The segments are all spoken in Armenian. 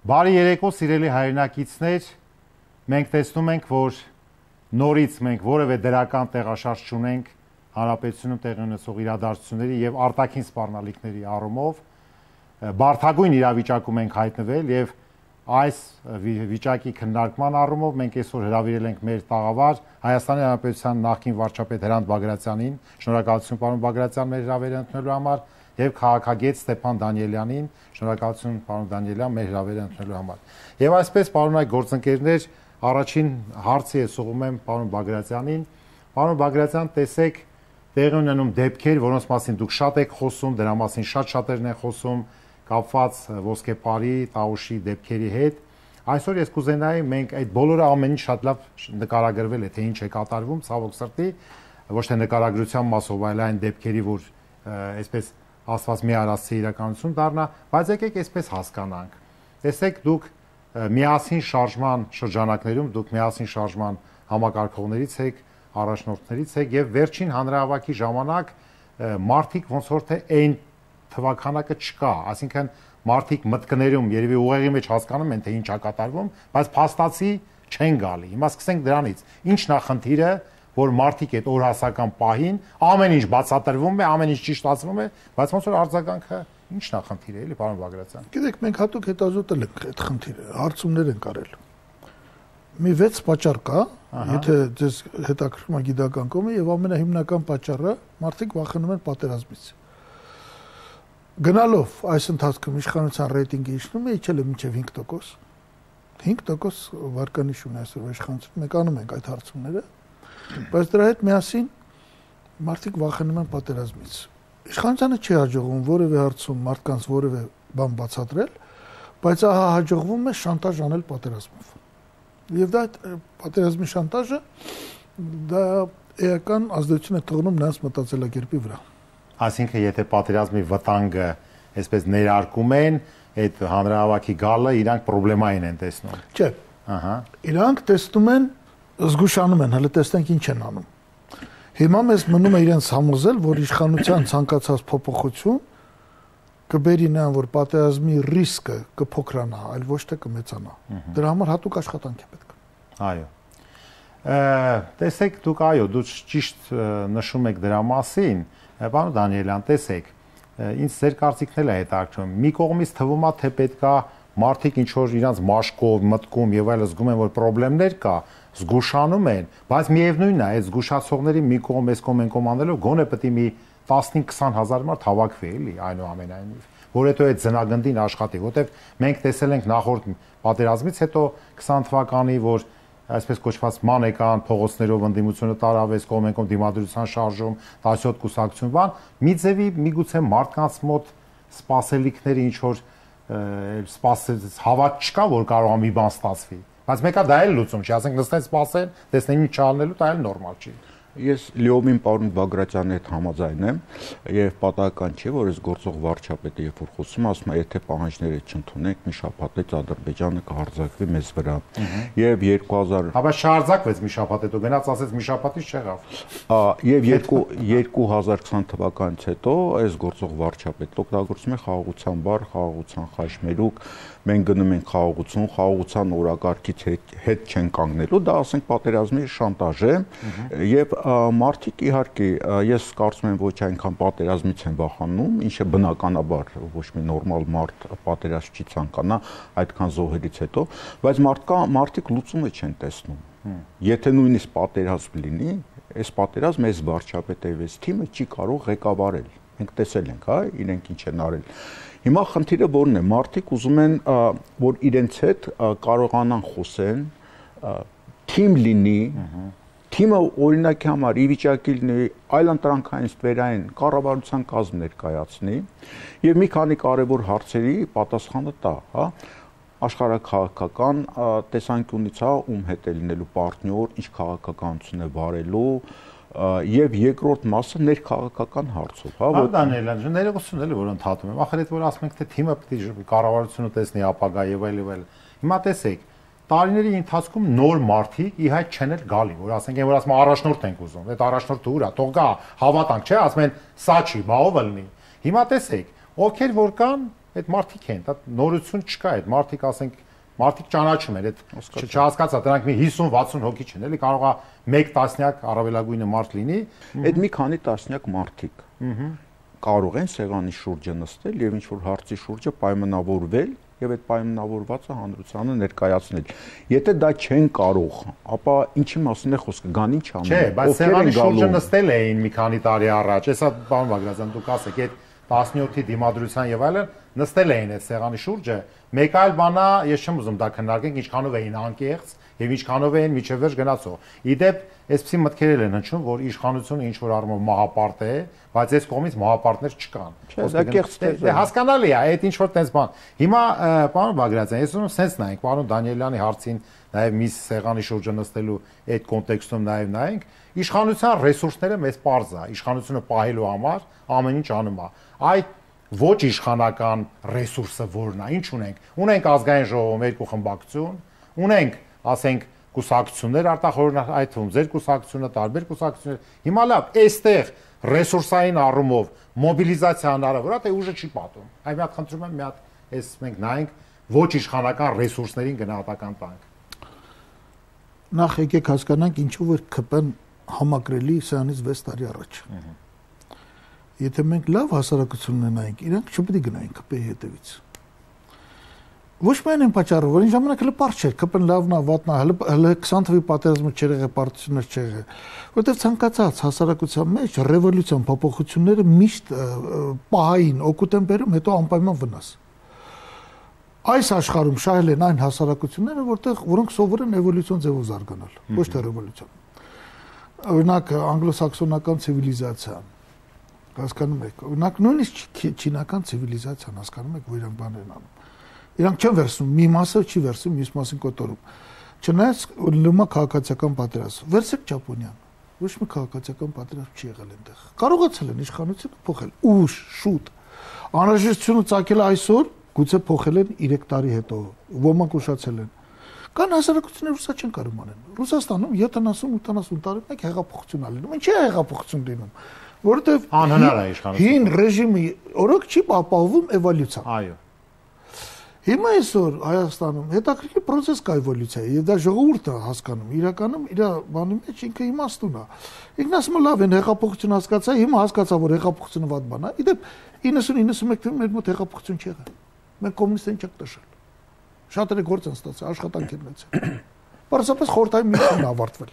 Բարի երեկո, սիրելի հայրենակիցներ, մենք տեսնում ենք, որ նորից մենք որևէ դրական տեղաշարժ չունենք հանրապետությունում տեղի ունեցող իրադարձությունների եւ արտաքին սպառնալիքների առումով, բարդագույն իրավիճակում ենք հայտնվել եւ այս վիճակի քննարկման առումով մենք այսօր հրավիրել ենք մեր տաղավար Հայաստանի Հանրապետության նախկին վարչապետ Հրանտ Բագրատյանին, շնորհակալություն պարոն Բագրատյան մեր հրավերը ընդունելու համար եւ քաղաքագետ Ստեփան Դանիելյանին, շնորհակալություն պարոն Դանիելյան մեր հրավերը ընդունելու համար։ Եվ այսպես պարոնայք գործընկերներ, առաջին հարցը ես ուղղում եմ պարոն Բագրատյանին։ Պարոն Բագրատյան, տեսեք, տեղի ունենում դեպքեր, որոնց մասին դուք շատ եք խոսում, դրա մասին շատ-շատերն են խոսում, կապված ոսկեպարի, Տաուշի դեպքերի հետ։ Այսօր ես կուզենայի մենք այդ բոլորը ամեն ինչ շատ լավ նկարագրվել է, թե ինչ է կատարվում, ցավոք սրտի, ոչ թե նկարագրության մասով, այլ այն դեպքերի, որ այսպես ասված մի արածի իրականություն դառնա, բայց եկեք այսպես հասկանանք։ Տեսեք, դուք միասին շարժման շրջանակներում, դուք միասին շարժման համակարգողներից եք, առաջնորդներից եք եւ վերջին հանրահավաքի ժամանակ մարդիկ ոնց որ թե այն թվականակը չկա, այսինքն մարդիկ մտքներում երևի ուղեղի մեջ հասկանում են, թե ինչ է կատարվում, բայց փաստացի չեն գալի։ Հիմա սկսենք դրանից։ Ինչն է խնդիրը, որ մարդիկ այդ օրհասական պահին ամեն ինչ բացատրվում է, ամեն ինչ ճիշտացվում է, բայց ոնց որ արձագանքը ինչն է խնդիրը, էլի պարոն Բագրատյան։ Գիտեք, մենք հատուկ հետազոտել ենք այդ խնդիրը, հարցումներ ենք արել։ Մի 6 պատճառ կա, եթե ձեզ հետաքրքրում է գիտական կողմը, եւ ամենահիմնական պատճառը մարդիկ վախենում են պատերազմից։ Գնալով այս ընթացքում իշխանության ռեյտինգը իջնում է, իջել է մինչև 5%։ 5% վարկանիշ ունի այսօր իշխանությունը, մենք անում ենք այդ հարցումները, բայց դրա հետ միասին մարդիկ վախենում են պատերազմից։ Իշխանությանը չի հաջողվում որևէ հարցում մարդկանց որևէ բան բացատրել, բայց ահա հաջողվում է շանտաժ անել պատերազմով։ Եվ դա պատերազմի շանտաժը դա էական ազդեցություն է թողնում նրանց մտածելակերպի վրա։ Այսինքն, եթե պատերազմի վտանգը այսպես ներարկում են, այդ հանրահավաքի գալը իրանք պրոբլեմային են տեսնում։ Չէ։ Իրանք տեսնում են, զգուշանում են, հələ տեսնենք ինչ են անում։ Հիմա մեզ մնում է իրենց համոզել, որ իշխանության ցանկացած փոփոխություն կբերի նրան, որ պատերազմի ռիսկը կփոքրանա, այլ ոչ թե կմեծանա։ Դրա համար հատուկ աշխատանք է պետք։ Այո։ Տեսեք, դուք ճիշտ նշում եք դրա մասին, պարոն Դանիելյան, տեսեք, ինձ ձեր կարծիքն է հետաքրքրում։ Մի կողմից թվում է, թե պետքա մարդիկ ինչ որ իրանց մաշկով, մտքում եւ այլն զգում են, որ խնդիրներ կա, զգուշանում են, բայց միևնույնն է, այդ զգուշացողների մի կողմ էս կողմ են կոմանելով, գոնե պետք է մի 15-20 հազար մարդ հավաքվի, էլի, այնուամենայնիվ, որ հետո այդ ձնագնդին աշխատի, որտեվ մենք տեսել ենք նախորդ պատերազմից հետո 20 թվականի, որ այսպես կոչված մանեկան փողոցներով ընդդիմությունը տարավեց կողմենկոմ դիմադրության շարժում 17 կուսակցություն բան մի ձևի միգուցե մարդկանց մոտ սպասելիքները ինչ որ հավատ չկա որ կարող է մի բան ստացվի բայց մեկը դա էլ լուծում չի ասենք նստեն սպասեն տեսնեն ինչ չանելու դա էլ նորմալ չի Ես լիովին պարոն Բագրատյանի հետ համաձայն եմ եւ պատահական չէ որ այս գործող վարչապետը երբ որ խոսում ասում է եթե պահանջները չընդունենք մի շաբաթից Ադրբեջանը կհարձակվի մեզ վրա եւ 2000 Հա բայց չհարձակվեց մի շաբաթ հետո գնաց ասեց մի շաբաթից չեղավ եւ 2020 թվականից հետո այս գործող վարչապետը օգտագործում է խաղաղության բառ խաղաղության խաչմերուկ մենք գնում ենք խաղաղության օրակարգից հետ չեն կանգնելու դա ասենք պատերազմի շանտաժ է եւ մարդիկ իհարկե ես կարծում եմ ոչ այնքան պատերազմից են վախենում, ինչը բնականաբար ոչ մի նորմալ մարդ պատերազմ չի ցանկանա այդքան զոհերից հետո, բայց մարդիկ լուծումը չեն տեսնում։ Եթե նույնիսկ պատերազմ լինի, այս պատերազմը այս վարչապետը եւ այս թիմը չի կարող ղեկավարել։ Մենք տեսել ենք, հա, իրենք ինչ են արել։ Հիմա խնդիրը որն է, մարդիկ ուզում են, որ իրենց հետ կարողանան խոսեն, թիմ լինի Թիմը օրինակի համար ի վիճակի լինի այլ ընտրանքային ստվերային կառավարության կազմ ներկայացնի եւ մի քանի կարեւոր հարցերի պատասխանը տա, հա աշխարհաքաղաքական տեսանկյունից հա ում հետ է լինելու պարտնյոր, ինչ քաղաքականություն է վարելու եւ երկրորդ մասը ներքաղաքական հարցով, հա որ Դանիելյան, ներողություն էլի որ ընդհատում եմ, ախր այդ որ ասում ենք թե թիմը պետք է կառավարությունը տեսնի ապագա եւ այլ եւ այլ։ Հիմա տեսեք Տարիների ընթացքում նոր մարդիկ իհայտ չեն էլ գալի, որ ասենք այն որ ասում առաջնորդ ենք ուզում, այդ առաջնորդը ուր է, թող գա, հավատանք, չէ, ասում են սա չի, բա ով լինի։ Հիմա տեսեք, ովքեր որ կան, այդ մարդիկ են, դա նորություն չկա, այդ մարդիկ ասենք մարդիկ ճանաչում են, այդ չհասկացա, դրանք մի 50-60 հոգի չեն, էլի կարող է 1 տասնյակ առավելագույնը մարդ լինի, այդ մի քանի տասնյակ մարդիկ կարող են սեղանի շուրջը նստել եւ ինչ որ հարցի շուրջը պայմանավորվել եւ այդ պայմանավորվածը հանրությանը ներկայացնել։ Եթե դա չեն կարող, ապա ինչի մասին է խոսքը, գան ինչ անեն։ Չէ, բայց սեղանի շուրջը նստել էին մի քանի տարի առաջ, հեսա պարոն Բագրատյան, դուք ասեք, այդ 17-ի դիմադրության եւ այլն նստել էին այդ սեղանի շուրջը, մեկ այլ բան է, ես չեմ ուզում դա քննարկենք, ինչքանով էին անկեղծ եւ ինչքանով էին միջև վերջ գնացող։ Իդեպ, այսպեսի մտքեր են հնչում, որ իշխանությունը ինչ որ առումով մահապարտ է, բայց այս կողմից մահապարտներ չկան։ Դա հասկանալի է, այդ ինչ որ տես բան։ Հիմա պարոն Բագրատյան, ես ուզում եմ սենց նայենք, պարոն Դանիելյանի հարցին, նաեւ մի սեղանի շուրջը նստելու այդ կոնտեքստում նաեւ նայենք, իշխանության ռեսուրսները մեծ պարզ է, իշխանությունը պահելու համար ամեն ինչ անում է։ Այդ ոչ իշխանական ռեսուրսը որն է, ինչ ունենք։ Ունենք ազգային ժողովում երկու խմբակցություն, ունենք, ասենք, կուսակցություններ արտախորհուրդ, այդ թվում ձեր կուսակցությունը, տարբեր կուսակցություններ։ Հիմա լավ, այստեղ ռեսուրսային առումով մոբիլիզացիա հնարավոր է, թե ուժը չի պատում։ Այ մի հատ խնդրում եմ, մի հատ այս մենք նայենք ոչ իշխանական ռեսուրսներին գնահատական տանք։ Նախ եկեք հասկանանք ինչու որ ԿՊ-ն համակրելի սրանից 6 տարի առաջ։ Եթե մենք լավ հասարակություն ունենայինք, իրանք չպետք է գնային ԿՊ-ի հետևից։ Ոչ միայն այն պատճառով, որ այն ժամանակ հələ պարզ չէր, ԿՊ-ն լավն է, վատն է, հələ 20 թվականի պատերազմը չէր եղել, պարտություններ չէր եղել, որովհետև ցանկացած հասարակության մեջ ռևոլյուցիան փոփոխությունները միշտ պահային օգուտ են բերում, հետո անպայման վնաս։ Այս աշխարհում շահել են այն հասարակությունները, որոնք սովոր են էվոլյուցիոն ձևով զարգանալ, ոչ թե ռևոլյուցիոն։ Օրինակ անգլոսաքսոնական ցիվիլիզացիան, հասկանում եք, օրինակ նույնիսկ չինական ցիվիլիզացիան, հասկանում եք, որ իրանք բաներ են անում։ Իրանք չեն վերցնում, մի մասը չի վերցնում, մյուս մասին կոտորում։ Չնայած լումա քաղաքացիական պատերազմ, վերցեք Ճապոնիան, ոչ մի քաղաքացիական պատերազմ չի եղել այնտեղ։ Կարողացել են իշխանությունը փոխել, ուշ, շուտ։ Անհրաժեշտությունը ցակել այսօր, գուցե փոխել են 3 տարի հետո, ոմանք ուշացել են։ Կան հասարակություններ, որ սա չեն կարող անեն։ Ռուսաստանում 70-80 տարի մեկ հեղափոխություն ա լինում։ Ինչի է հեղափոխություն լինում։ Որովհետև անհնար է իշխանությունը։ Հին ռեժիմի օրոք չի ապահովում էվոլյուցիա։ Այո։ Հիմա այսօր Հայաստանում հետաքրքիր process կա էվոլյուցիայի, եւ դա ժողովուրդը հասկանում, իրականում իր բանի մեջ ինքը իմաստուն է։ Ինքն ասում է լավ են հեղափոխություն հասկացա, հիմա հասկացա որ հեղափոխությունը վատ բան է։ Իդեպ 90-91 թվականին մեր մոտ հեղափոխություն չեղավ։ Մենք կոմունիստին չենք տշել։ Շատերը գործ են ստացել, աշխատանք են ունեցել։ Պարզապես խորհրդային միությունն ավարտվել։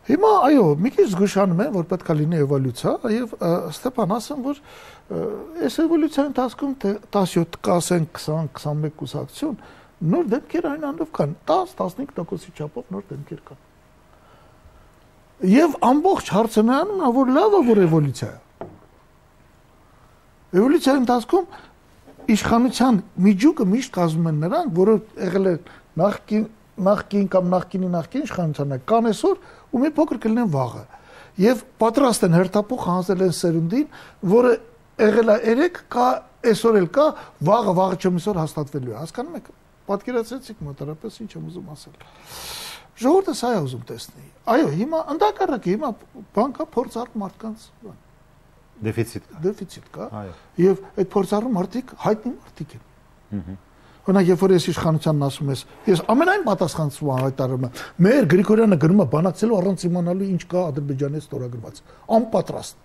Հիմա այո, մի քիչ զգուշանում են, որ պետք է լինի էվոլյուցիա, եւ Ստեփան ասեմ, որ այս էվոլյուցիայի ընթացքում 17, ասենք 20-21 կուսակցություն նոր դեպքեր այն անով կան, 10-15%-ի չափով նոր դեպքեր կան։ Եվ ամբողջ հարցը նրանում է, որ լավ է, որ էվոլյուցիա է։ Էվոլյուցիայի ընթացքում իշխանության միջուկը միշտ կազմում են նրանք, որոնք եղել են նախկին կամ նախկինի իշխանությանը կան այսօր ու մի փոքր կլինեն վաղը եւ պատրաստ են հերթափոխ հանձնել են սերունդին, որը եղել է 3 կա այսօր էլ կա, վաղը չմիսօր հաստատվելու է, հասկանում եք, պատկերացրեցիք մոտարապես ինչ եմ ուզում ասել։ Ժողովուրդը սա է ուզում տեսնել։ Այո, հիմա ընդհակառակը հիմա բանկա փորձառու մարդկանց դեֆիցիտ կա։ Այո։ Եվ այդ փորձառու մարդիկ հայտնի մարդիկ են։ Օրինակ, երբ որ ես իշխանությանն ասում ես, ես ամենայն պատասխանատվություն հայտարարում եմ, մեր Գրիգորյանը գնում է բանակցելու առանց իմանալու ինչ կա Ադրբեջանի ստորագրված, անպատրաստ,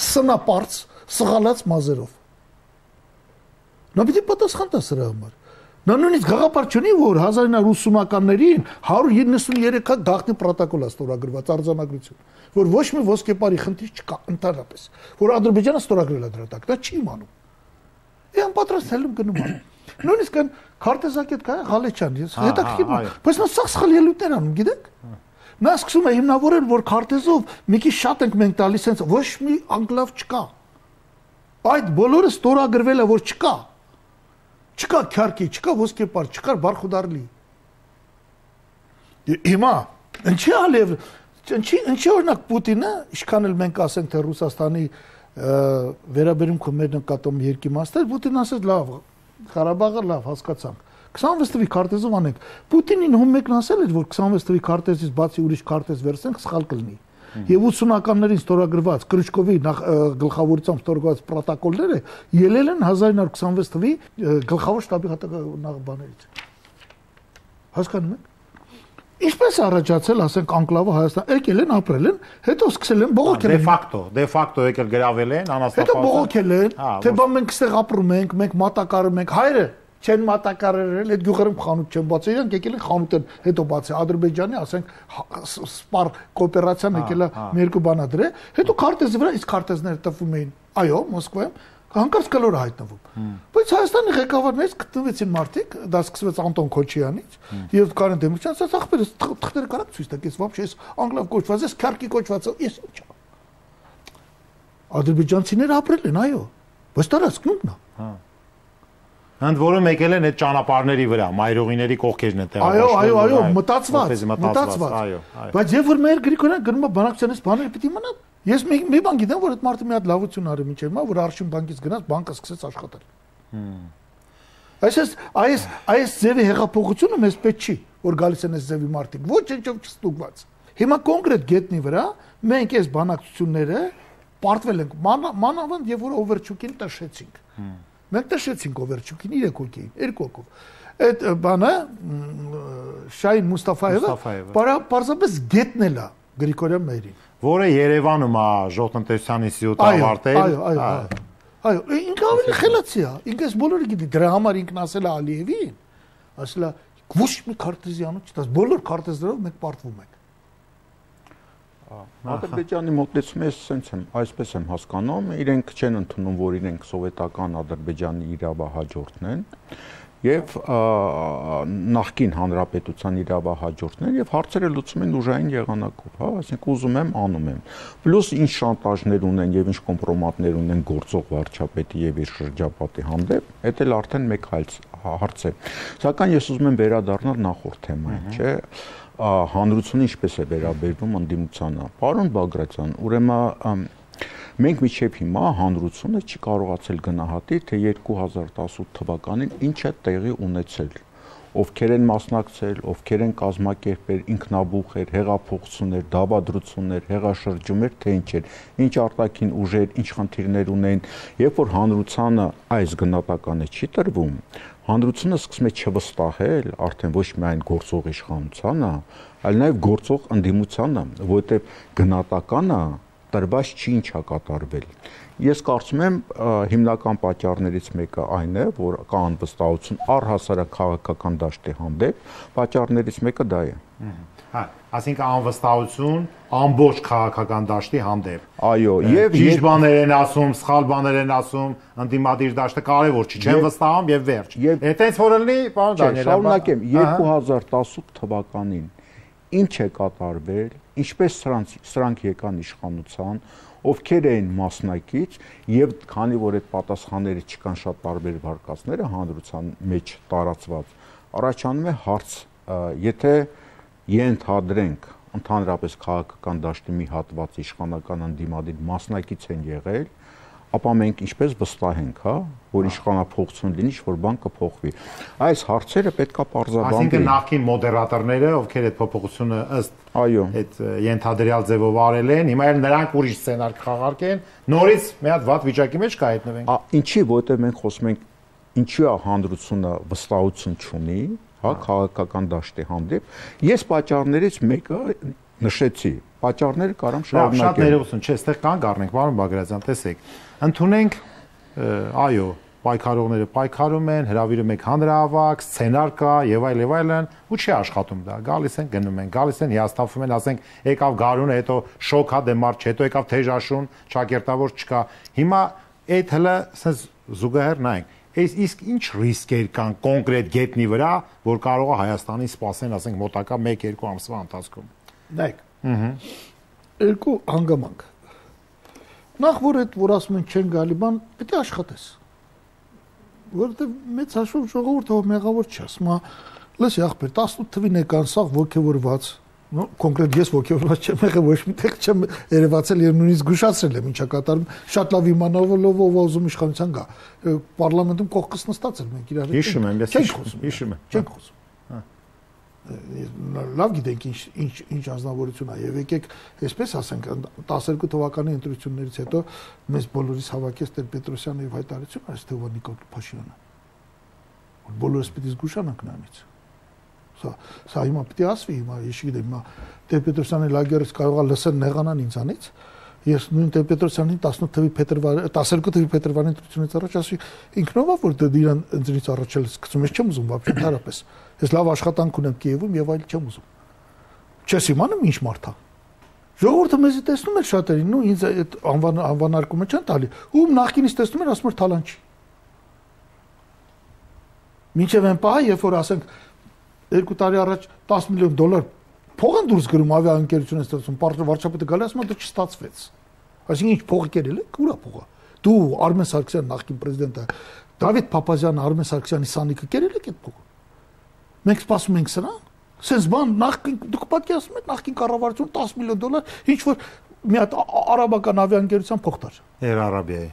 սնապարծ, սղալած մազերով։ Նա պիտի պատասխան տա սրա համար։ Նա նույնիսկ գաղափար չունի, որ 1980-ականներին 193 հատ գաղտնի պրոտոկոլ է ստորագրված արձանագրություն, որ ոչ մի ոսկեպարի խնդիր չկա ընդհանրապես, որ Ադրբեջանը ստորագրել է դրա տակ, դա չի իմանում։ Իան պատրաստ հելում գնում է։ Նույնիսկ այն քարտեզակետ կա Ղալեչյան, ես հետաքրքիր եմ, բայց նա սա սխալ ելույթներ անում, գիտեք։ Նա սկսում է հիմնավորել, որ քարտեզով մի քիչ շատ ենք մենք տալիս, sense ոչ մի անգլավ չկա։ Այդ բոլորը ստորագրվել է, որ չկա։ Չկա քյարքի, չկա ոսկեպար, չկա բարխուդարլի։ Հիմա ինչի ալև, ինչի օրինակ Պուտինը, ինչքան էլ մենք ասենք թե Ռուսաստանի վերաբերմունքը մեր նկատում երկիմաստեր, Պուտինն ասեց լավ, Ղարաբաղը լավ հասկացանք։ 26 թվականի քարտեզով անենք։ Պուտինին հում մեկն ասել էր, որ 26 թվականի քարտեզից բացի ուրիշ քարտեզ վերցնենք, սխալ կլինի։ եւ 80-ականներին ստորագրված Կրուչկովի գլխավորությամբ ստորագրված պրոտոկոլները ելել են 1926 թվականի գլխավոր շտաբի նախաբաներից։ Հասկանում եք։ Ինչպես առաջացել, ասենք, անկլավը Հայաստան, եկել են, ապրել են, հետո սկսել են բողոքել։ Դե ֆակտո եկել գրավել են, անաստապահ։ Հետո բողոքել են, թե բա մենք այստեղ ապրում ենք, մենք մատակարարում ենք, հայրը չեն մատակարարել, այդ գյուղերում խանութ չեն բացել, իրանք եկել են խանութ են հետո բացել, Ադրբեջանի, ասենք, սպար կոոպերացիան եկել է մի երկու բանադրել, հետո քարտեզի վրա իսկ քարտեզները տվում էին, այո, Մոսկվայում հանկարծ կլորը հայտնվում։ Բայց Հայաստանի ղեկավարներից գտնվեցին մարդիկ, դա սկսվեց Անտոն Քոչյանից եւ Կարեն Դեմիրճյանից, ասած ախպերս թղթերը կարակ ցույց տակ, ես вообще ես անգլավ կոչված ես, քարքի կոչված ես ինչ։ Ադրբեջանցիները ապրել են, այո, բայց տարածքն է։ Ընդ որում եկել են այդ ճանապարհների վրա, մայրուղիների կողքերն են տեղաշարժվել։ Այո, մտածված։ Բայց երբ որ մեր Գրիգորյան գնում է բանակցանից բաները պիտի մնան, ես մի բան գիտեմ, որ այդ մարդը մի հատ լավություն արի մինչև հիմա, որ Արշին բանկից գնաց, բանկը սկսեց աշխատել։ Այս ձևի հեղափոխությունը մեզ պետք չի, որ գալիս են այս ձևի մարդիկ, ոչ ինչով չստուգված։ Հիմա կոնկրետ գետնի վրա մենք այս բանակցությունները պարտվել ենք մանավանդ եւ որ Օվերչուկին տշեցինք։ Մենք տշեցինք Օվերչուկին 3 հոգի, 2 հոգով։ Այդ բանը Շահին Մուստաֆայևը պարզապես գետնել է Գրիգորյան մերին, որը Երևանում է ժողովրդատնտեսության ինստիտուտ ավարտել։ Այո, ինքը ավելի խելացի է, ինքը այս բոլորը գիտի, դրա համար ինքն ասել է Ալիևին, ասել է ոչ մի քարտեզիանոց չտաս, բոլոր քարտեզներով մենք պարտվում ենք։ Ադրբեջանի մոտեցումը այսպես եմ հասկանում, իրենք չեն ընդունում, որ իրենք սովետական Ադրբեջանի իրավահաջորդն են եւ նախկին հանրապետության իրավահաջորդն են եւ հարցերը լուծում են ուժային եղանակով, հա, այսինքն ուզում եմ, անում եմ։ Պլյուս ինչ շանտաժներ ունեն եւ ինչ կոմպրոմատներ ունեն գործող վարչապետի եւ իր շրջապատի հանդեպ, դա էլ արդեն մեկ հարց է։ Սակայն ես ուզում եմ վերադառնալ նախորդ թեմային, չէ՞։ Հանրությունը ինչպես է վերաբերվում ընդդիմությանը։ Պարոն Բագրատյան, ուրեմն մենք մինչև հիմա հանրությունը չի կարողացել գնահատել, թե 2018 թվականին ինչ է տեղի ունեցել, ովքեր են մասնակցել, ովքեր են կազմակերպել, ինքնաբուխեր, հեղափոխություններ, դավադրություններ, հեղաշրջումներ, թե ինչ էր, ինչ արտաքին ուժեր, ինչ խնդիրներ ունեն, երբ որ հանրությանը այս գնահատականը չի տրվում, հանրությունը սկսում է չվստահել արդեն ոչ միայն գործող իշխանությանը, այլ նաև գործող ընդդիմությանը, որովհետև գնահատականը տրված չի ինչա կատարվել։ Ես կարծում եմ հիմնական պատճառներից մեկը այն է, որ կա անվստահություն առհասարակ քաղաքական դաշտի հանդեպ, պատճառներից մեկը դա է։ Հա, ասինքն անվստահություն ամբողջ քաղաքական դաշտի հանդեպ։ Այո, եւ ճիշտ բաներ են ասում, սխալ բաներ են ասում, ընդդիմադիր դաշտը կարևոր չի, չեն վստահում եւ վերջ։ Այդտենց որ լինի, պարոն Դանիելյան։ Շարունակեմ, 2018 թվականին ինչ է կատարվել, ինչպես սրանք եկան իշխանության, ովքեր էին մասնակից եւ քանի որ այդ պատասխանները չկան շատ տարբեր վարկածները հանրության մեջ տարածված, առաջանում է հարց, եթե ենթադրենք ընդհանրապես քաղաքական դաշտի մի հատված իշխանական ընդդիմադիր մասնակից են եղել, ապա մենք ինչպես վստահենք, հա, որ իշխանափոխություն լինի, ինչ-որ բան կփոխվի։ Այս հարցերը պետքա պարզաբանվեն։ Այսինքն նախկին մոդերատորները, ովքեր այդ փոփոխությունը ըստ այդ ենթադրյալ ձևով արել են, հիմա էլ նրանք ուրիշ սցենար կխաղարկեն, նորից մի հատ վատ վիճակի մեջ կհայտնվենք։ Ինչի, որտեղ մենք խոսում ենք, ինչու է հանրությունը վստահություն չունի, հա, քաղաքական դաշտի հանդեպ։ Ես պատճառներից մեկը նշեցի։ Պատճառները կարամ շարունակեմ։ Շատ ներողություն, չէ, այստեղ կանգ առնենք, պարոն Բագրատյան, տեսեք։ Ընդունենք, այո, պայքարողները պայքարում են, հրավիրում եք հանրահավաք, սցենար կա եւ այլն, ու չի աշխատում դա։ Գալիս են, գնում են, գալիս են, հիասթափվում են, ասենք, եկավ գարունը, հետո շոկ հա դեմարչ, հետո եկավ թեժաշուն, ճակերտավոր չկա։ Հիմա այդ հələ ասես զուգահեռ նայենք։ Իսկ ինչ ռիսկեր կան կոնկրետ գետնի վրա, որ կարող է Հայաստանին սպասեն, ասենք, մոտակա 1-2 ամսվա ընթացքում։ Նայեք։ Երկու հանգամանք։ Նախ որ այդ որ ասում են չեն գալի բան, պետք է աշխատես։ Որովհետև մեծ հաշվով ժողովուրդը մեղավոր չի, ասում է, լսի ախպեր, 18 թվին եկան սաղ ոգևորված, կոնկրետ ես ոգևորված չեմ եղել, ոչ միտեղ չեմ երևացել եւ նույնիսկ զգուշացրել եմ ինչա կատարում, շատ լավ իմանալով ով ուզում իշխանության գա։ Պարլամենտում կողքս նստած էր մենք իրար հետ։ Հիշում եմ, ես հիշում եմ։ Չենք խոսում։ Լավ գիտենք ինչ ազնվորություն է եւ եկեք այսպես ասենք 12 թվականի ընտրություններից հետո մեզ բոլորիս հավաքեց Տեր-Պետրոսյանը եւ հայտարարությունը այս թվա Նիկոլ Փաշինյանը բոլորս պիտի զգուշանանք նրանից սա հիմա պիտի ասվի հիմա ես գիտեմ հիմա Տեր-Պետրոսյանի լագերից կարող է լսել նեղանան ինձանից ես նույն Տեր-Պետրոսյանին 12 թվականի փետրվարի ընտրությունից առաջ ասի ինքնով որ դրան ընտրից առաջ էլ սկսում ես չեմ ուզում вообще ընդհանրապես ես լավ աշխատանք ունեմ Կիևում եւ այլ չեմ ուզում չես իմանում ինչ մարդ է ժողովուրդը մեզի տեսնում է շատերին ու ինձ այդ անվանարկումը չեն տալի ում նախկինից տեսնում են ասում են թալան չի մինչև այն պահը երբ որ ասենք 2 տարի առաջ 10 միլիոն դոլար փող են դուրս գրում ավիաընկերությունը ստացում վարչապետը գալի ասում է դա չստացվեց այսինքն ինչ փողը կերել է ուրա փողը դու Արմեն Սարգսյան նախկին պրեզիդենտը Դավիթ Փափազյանը Արմեն Սարգսյանի սանիկը կերել եք այդ փողը մենք սպասում ենք սրան sense բան նախքին դուք պատկերացնում եք նախքին կառավարություն 10 միլիոն դոլար ինչ որ մի հատ արաբական ավիաընկերության փող տար Air Arabia-ի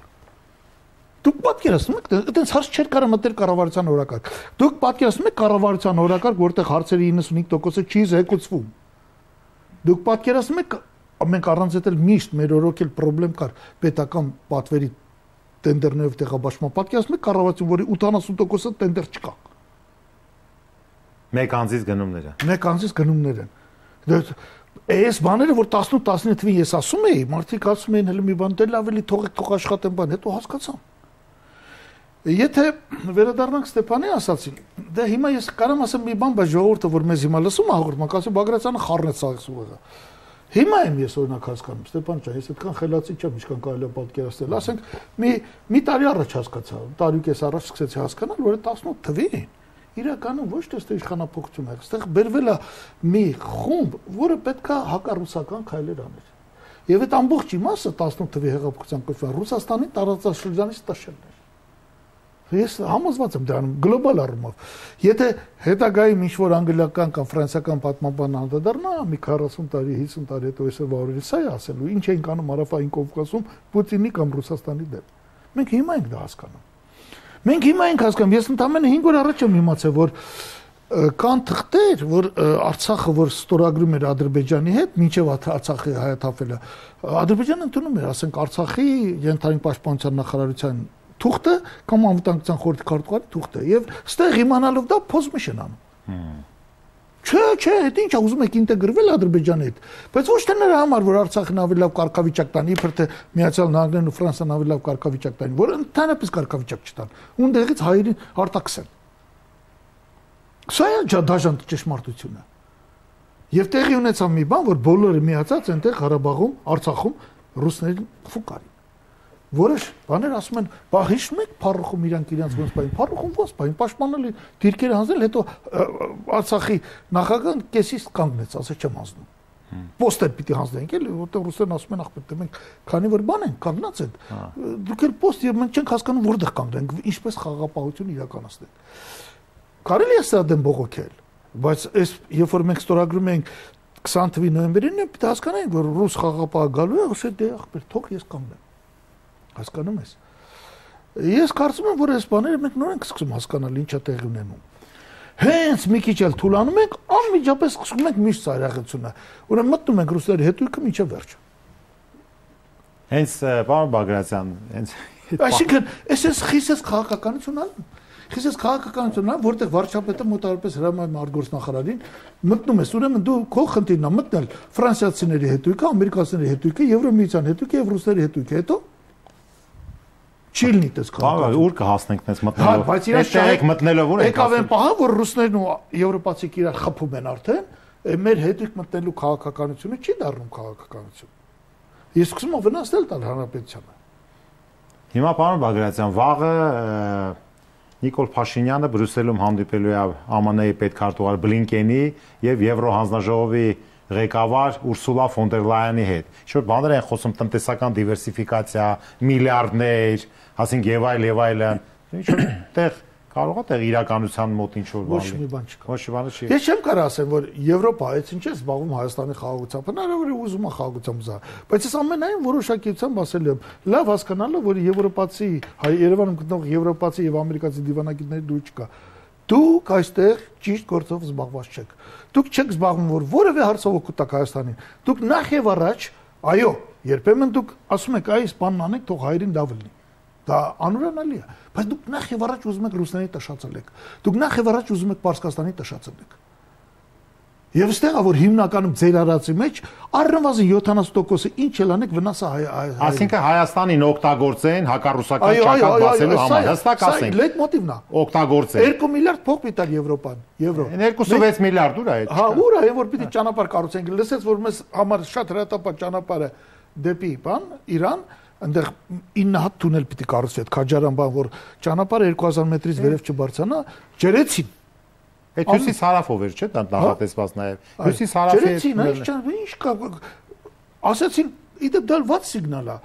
դուք պատկերացնում եք այդպես հարց չէր կարող մտել կառավարության օրակարգ դուք պատկերացնում եք կառավարության օրակարգ որտեղ հարցերի 95%-ը չի զեկուցվում դուք պատկերացնում եք մենք առանց այդել միշտ մեր օրոքել խնդրեմ կար պետական պատվերի տենդերներով տեղաբաշխման պատկերացնում եք կառավարություն որի 80%-ը տենդեր չկա մեկ անձից գնումներ են այս բաները որ 18-19 թվին ես ասում էի մարդիկ ասում էին հələ մի բան դե լավ էլի թող աշխատեն բան հետո հասկացան եթե վերադառնանք Ստեփանի ասացին դե հիմա ես կարամ ասեմ մի բան բայց ժողովուրդը որ մեզ հիմա լսում է հաղորդման ասում Բագրատյանը խառնեց սաղից ուղեղը հիմա եմ ես օրինակ հասկանում Ստեփան ջան ես այդքան խելացի չեմ ինչքան կարելի է պատկերացնել ասենք մի տարի առաջ հասկացա տարի կես առաջ սկսեցի հասկանալ որ 18 թվին իրականում ոչ թե իշխանապողություն է այստեղ բերվել է մի խումբ որը պետքա հակառուսական քայլեր աներ եւ այդ ամբողջ իմաստը 18 թվի հեղափոխության կողմից Ռուսաստանի տարածաշրջանից տաշելն էր ես համոզված եմ դրանում գլոբալ առումով եթե հետագայում ինչ որ անգլիական կամ ֆրանսիական պատմաբան անդրադառնա մի 40 տարի 50 տարի հետո այսօրվա օրերի սա է ասելու ինչ ենք անում հարավային Կովկասում Պուտինի կամ Ռուսաստանի դեմ մենք հիմա ենք դա հասկանում Մենք հիմա ենք հասկանում, ես ընդամենը 5 օր առաջ եմ իմացել, որ կան թղթեր, որ Արցախը որ ստորագրում էր Ադրբեջանի հետ, մինչև Արցախի հայաթափելը, Ադրբեջանը ընդունում էր, ասենք Արցախի յենթային պաշտպանության նախարարության թուղթը կամ անվտանգության խորհրդի քարտուղարի թուղթը, եւ ստեղ իմանալով դա փոզմիշ են անում։ Չէ, դա ինչ է ուզում եք ինտեգրվել Ադրբեջանի հետ, բայց ոչ թե նրա համար, որ Արցախն ավելի լավ կարգավիճակ տան, իբր թե Միացյալ Նահանգներն ու Ֆրանսիան ավելի լավ կարգավիճակ տան, որ ընդհանրապես կարգավիճակ չտան, ունդեղից հայերին արտաքսեն։ Սա է դաժան ճշմարտությունը։ Եվ տեղի ունեցավ մի բան, որ բոլորը միացած այնտեղ Ղարաբաղում, Արցախում ռուսներին ֆուկարին։ Որոշ բաներ ասում են, բա հիշում եք Փարուխում իրանք իրենց ոնց բային, Փարուխում ոնց բային, պաշտպանել դիրքերը հանձնել, հետո Արցախի նախագահան կեսից կանգնեց, ասա չեմ հանձնում։ Պոստեր պիտի հանձնենք էլի, որտեղ ռուսերն ասում են ախպետ, մենք քանի որ բան են կանգնած են։ Դուք էլ պոստ եւ մենք չենք հասկանում որտեղ կանգնենք, ինչպես խաղաղապահություն իրականացնենք։ Կարելի է սա դեմ բողոքել, բայց այս երբ որ մենք ստորագրում ենք 20 թվականի նոյեմբերին, պիտի հասկանանք, որ ռուս խաղաղապահը գալու է, ասել դե ախպետ, թող ես կանգնեմ։ Հասկանում ես։ Ես կարծում եմ, որ այս բաները մենք նոր ենք սկսում հասկանալ ինչա տեղի ունենում։ Հենց մի քիչ էլ թուլանում ենք, անմիջապես սկսում ենք միշտ ծայրահեղությունը։ Ուրեմն մտնում ենք ռուսների հետույքը մինչև վերջ։ Հենց պարոն Բագրատյան, հենց Այսինքն, այս խիսես քաղաքականություն ալու։ Խիսես քաղաքականություն ալու, որտեղ վարչապետը մոտավորապես հրամայում արտգործնախարարին մտնում ես, ուրեմն դու քո խնդիրն է մտնել ֆրանսիացիների հետույքը, ամերիկացիների հետույքը, Եվրոմիության հետույքը եւ ռուսների հետույքը, հետո Չիլնի տես քաղաք։ Ուր կհասնենք դες մտնելով։ Բայց իրենք մտնելով ուր ենք։ Եկավ են պահա, որ ռուսներն ու եվրոպացիք իրար խփում են արդեն, մեր հետույք մտնելու քաղաքականությունը չի դառնում քաղաքականություն։ Ես սկսում եմ վնասել տալ հանրապետությանը։ Հիմա պարոն Բագրատյան, վաղը Նիկոլ Փաշինյանը Բրյուսելում հանդիպելու է ԱՄՆ-ի պետքարտուղար Բլինկենի եւ Եվրոհանձնաժողովի ղեկավար Ուրսուլա ֆոն դեր Լայենի հետ։ Ինչ-որ բաներ են խոսում տնտեսական դիվերսիֆիկացիա, միլիարդներ, ասենք եւ այլն։ Ինչ-որ տեղ կարող է տեղ իրականության մոտ ինչ-որ բան։ Ոչ մի բան չկա։ Ոչ մի բան չի։ Ես չեմ կարող ասեմ, որ Եվրոպա այս ինչ է զբաղվում Հայաստանի խաղաղությամբ, հնարավոր է ուզում է խաղաղությամբ զա, բայց ես ամենայն որոշակիությամբ ասել եմ, լավ հասկանալով, որ եվրոպացի, Երևանում գտնող եվրոպացի եւ ամերիկացի դիվանագետների դու չկա։ Դուք այստեղ ճիշտ գործով զբաղված չեք։ Դուք չեք զբաղվում, որ որևէ հարցով օգուտ տաք Հայաստանին։ Դուք նախ եւ առաջ, այո, երբեմն դուք ասում եք, այս բանն անեք, թող հայրին լավ լինի։ Դա անուրանալի է, բայց դուք նախ եւ առաջ ուզում եք ռուսների տշացել եք։ Դուք նախ եւ առաջ ուզում եք Պարսկաստանի տշացել եք։ Եվ այստեղ որ հիմնականում ձեր արածի մեջ առնվազն 70%-ը ինչ էլ անեք վնասը Այսինքն Հայաստանին օգտագործեն հակառուսական ճակատ բացելու համար, հստակ ասենք։ Լեյտմոտիվն է։ Օգտագործեն։ 2 միլիարդ փող պիտար Եվրոպան, եվրո։ 2.6 միլիարդ ուր է այդ։ Հա, ուր է, որ պիտի ճանապարհ կառուցենք։ Լսեց, որ մեզ համար շատ հրատապատ ճանապարհը դեպի բան, Իրան, այնտեղ 9 հատ թունել պիտի կառուցվի, այդ Քաջարան բան, որ ճանապարհը 2000 մետրից վերև չբարձրանա, ջրեցին։ Այդ հյուսիս հարավով էր, չէ՞, դա նախատեսված նաև։ Հյուսիս հարավի ինչ կա, ասացին, իդեպ դա ված սիգնալ է։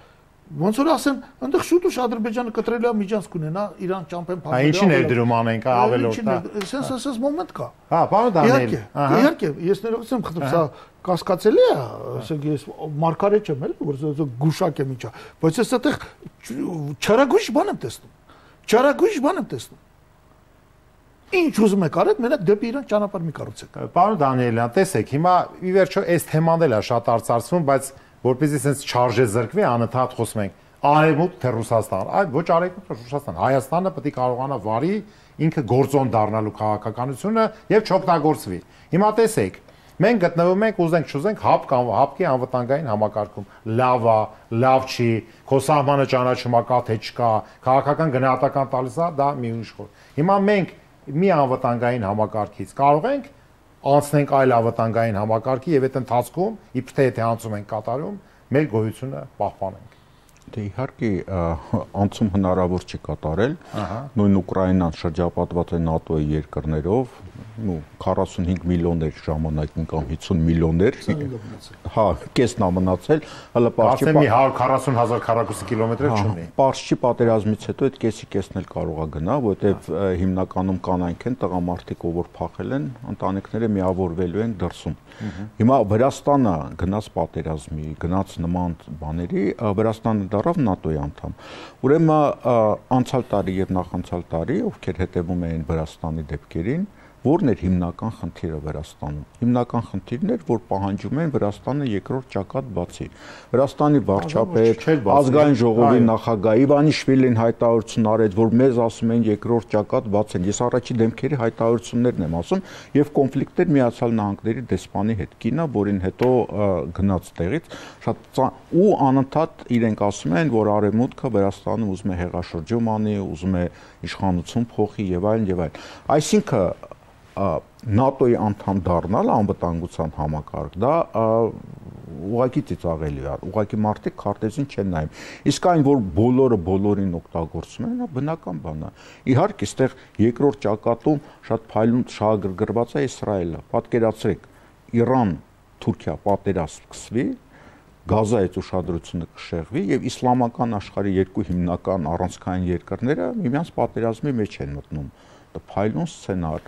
Ոնց որ ասեն, այնտեղ շուտ-ուշ Ադրբեջանը կտրել է միջանց կունենա Իրան ճամփեն փակել։ Ինչի ներդրում անենք, ավելորդ է։ Սենց մոմենտ կա։ Հա, պարոն Դանիել։ Իհարկե, ես ներողություն եմ խնդրում, սա կասկածելի է, ասենք ես մարգարետ չեմ էլ, որ գուշակ եմ ինչա, բայց ես այդտեղ չարագույժ բան եմ տեսնում։ Չարագույժ բան եմ տեսնում։ Ինչ ուզում եք արեք, մենակ դեպի Իրան ճանապարհ մի կառուցեք։ Պարոն Դանիելյան, տեսեք, հիմա ի վերջո այս թեման էլ է շատ արծարծվում, բայց որպեսզի sense չարժե զրկվի, անընդհատ խոսում ենք Արևմուտք թե Ռուսաստան, այ ոչ Արևմուտք թե Ռուսաստան, Հայաստանը պետք է կարողանա վարի ինքը գործոն դառնալու քաղաքականությունը եւ չօգտագործվի։ Հիմա տեսեք, մենք գտնվում ենք, ուզենք չուզենք, հապկի անվտանգային համակարգում։ Լավ է, լավ չի, քո սահմանը ճանաչում է կա թե չկա, քաղաքական գնահատական տալիս է, դա մի ուրիշ խոր։ Հիմա մենք մի անվտանգային համակարգից կարող ենք անցնենք այլ անվտանգային համակարգի եւ այդ ընթացքում իբր թե եթե անցում ենք կատարում մեր գոյությունը պահպանենք։ Դե իհարկե անցում հնարավոր չի կատարել։ Նույն Ուկրաինան շրջապատված է ՆԱՏՕ-ի երկրներով, 45 միլիոներ ժամանակին կամ 50 միլիոներ։ Հա, կեսն է մնացել, հələ պարսչի 140,000 քառակուսի կիլոմետր չունի։ Պարսչի պատերազմից հետո այդ կեսն էլ կարող է գնա, որովհետև հիմնականում կանայք են, տղամարդիկ, ով որ փախել են, ընտանիքները միավորվելու են դրսում։ Հիմա Վրաստանը գնաց պատերազմի, գնաց նման բաների, Վրաստանը դառավ ՆԱՏՕ-ի անդամ։ Ուրեմն անցյալ տարի եւ նախանցյալ տարի, ովքեր հետևում էին Վրաստանի դեպքերին, որն էր հիմնական խնդիրը Վրաստանում։ Հիմնական խնդիրն էր, որ պահանջում են Վրաստանը երկրորդ ճակատ բացի։ Վրաստանի վարչապետ, ազգային ժողովի նախագահ Իվանիշվիլին հայտարարություն արեց, որ մեզ ասում են երկրորդ ճակատ բացեն։ Ես առաջի դեմքերի հայտարարություններն եմ ասում եւ կոնֆլիկտներ Միացյալ Նահանգների դեսպանի հետ։ Կինը, որին հետո գնաց տեղից, շատ ու անընդհատ իրենք ասում են, որ Արևմուտքը Վրաստանը ուզում է հեղաշրջում անի, ուզում է իշխանություն փոխի եւ այլն եւ այլն։ Այսինքն ՆԱՏՕ-ի անդամ դառնալ անվտանգության համակարգ, դա ուղղակի ծիծաղելի է, ուղղակի մարդիկ քարտեզին չեն նայում։ Իսկ այն, որ բոլորը բոլորին օգտագործում են, դա բնական բան է։ Իհարկե, այստեղ երկրորդ ճակատում շատ փայլուն շահագրգռված է Իսրայելը։ Պատկերացրեք, Իրան-Թուրքիա պատերազմ սկսվի, Գազայից ուշադրությունը կշեղվի եւ իսլամական աշխարհի երկու հիմնական առանցքային երկրները միմյանց պատերազմի մեջ են մտնում։ Փայլուն սցենար,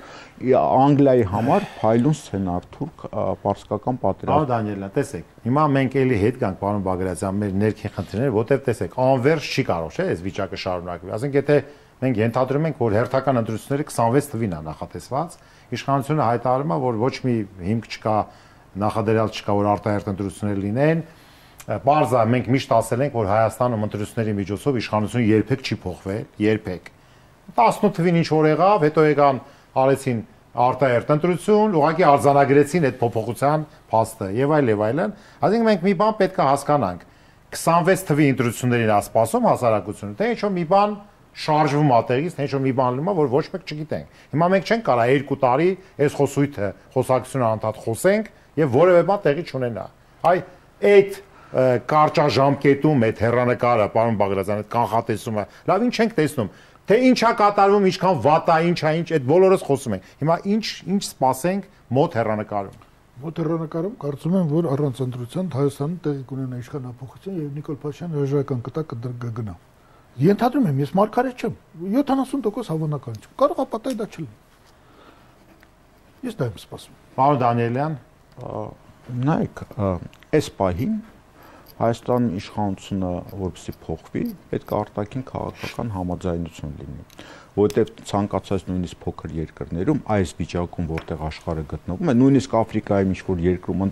Անգլիայի համար փայլուն սցենար, թուրք-պարսկական պատերազմ։ Պարոն Դանիելյան, տեսեք, հիմա մենք էլի հետ գանք, պարոն Բագրատյան, մեր ներքին խնդիրները, որտեղ տեսեք, անվերջ չի կարող, չէ՞, այս վիճակը շարունակվի։ Ասենք, եթե մենք ենթադրում ենք, որ հերթական ընտրությունները 26 թվին է նախատեսված, իշխանությունը հայտարարում է, որ ոչ մի հիմք չկա, նախադրյալ չկա, որ արտահերթ ընտրություններ լինեն։ Պարզ է, մենք միշտ ասել ենք, որ Հայաստանում ընտրությունների միջոցով իշխանությունը երբեք չի փոխվել, երբեք։ 18 թվին ինչ որ եղավ, հետո եկան արեցին արտահերթ ընտրություն, ուղղակի արձանագրեցին այդ փոփոխության փաստը եւ այլն։ Այսինքն մենք մի բան պետք է հասկանանք։ 26 թվի ընտրություններին է սպասում հասարակությունը, թե ինչ-որ մի բան շարժվում է տեղից, թե ինչ-որ մի բան լինում է, որ ոչ մեկ չգիտենք։ Հիմա մենք չենք կարող 2 տարի այս խոսույթը, խոսակցությունը անդադ խոսենք եւ որևէ բան տեղի չունենա։ Այ այդ կարճաժամկետում այդ հեռանկարը, պարոն Բագրատյան, այդ կանխատեսումը, լավ ինչ ենք տեսնում։ Թե ինչա կատարվում, ինչքան վատ է, ինչա, այդ բոլորս խոսում ենք։ Հիմա ինչ սպասենք մոտ հեռանկարում։ Մոտ հեռանկարում կարծում եմ, որ առանց ընտրության Հայաստանը տեղի կունենա իշխանապողություն եւ Նիկոլ Փաշինյանը հրաժարական կտա կգնա։ Ենթադրում եմ, ես մարգարետ չեմ, 70% հավանական չեմ։ Կարող է պատահի դա չլինի։ Ես դա եմ սպասում։ Պարոն Դանիելյան, նայեք, այս պահին Հայաստանի իշխանությունը որպեսզի փոխվի, պետք է արտաքին քաղաքական համաձայնություն լինի, որտեղ ցանկացած նույնիսկ փոքր երկրներում այս վիճակում, որտեղ աշխարհը գտնվում է, նույնիսկ Աֆրիկայում ինչ-որ երկրում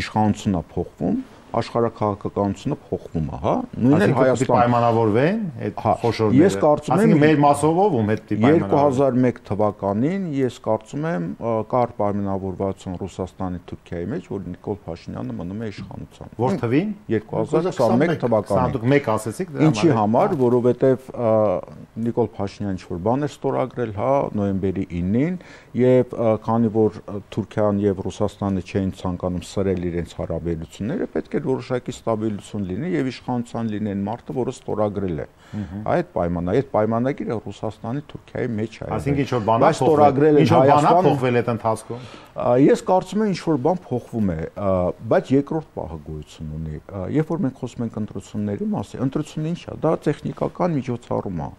իշխանությունն է փոխվում, աշխարհակաղակականությունը փոխվում է, հա, նույնն էլ Հայաստանում պայմանավորվեն այդ խոշորները։ Ես կարծում եմ մեր մասով ում հետ պայմանավորվեն 2001 թվականին ես կարծում եմ կար պայմանավորվածություն Ռուսաստանի Թուրքիայի մեջ, որ Նիկոլ Փաշինյանը մնում է իշխանության։ Որ թվին 2021 թվականին։ Դուք մեկ ասեցիք դրա Ինչի համար, որովհետև Նիկոլ Փաշինյանը ինչ-որ բան էր ստորագրել, հա, նոյեմբերի 9-ին, եւ քանի որ Թուրքիան եւ Ռուսաստանը չէին ցանկանում սրել իրենց հարաբերությունները, պետք է որոշակի ստաբիլություն լինի եւ իշխանության լինեն մարդը, որը ստորագրել է այդ պայմանագիրը Ռուսաստանի Թուրքիայի մեջ է։ Այսինքն ինչ-որ բան ստորագրել է Հայաստանը փոխվել այդ ընթացքում։ Ես կարծում եմ ինչ-որ բան փոխվում է, բայց երկրորդ պահը գոյություն ունի։ Երբ որ մենք խոսում ենք ընտրությունների մասին, ընտրությունը ինչ է, դա տեխնիկական միջոցառում է։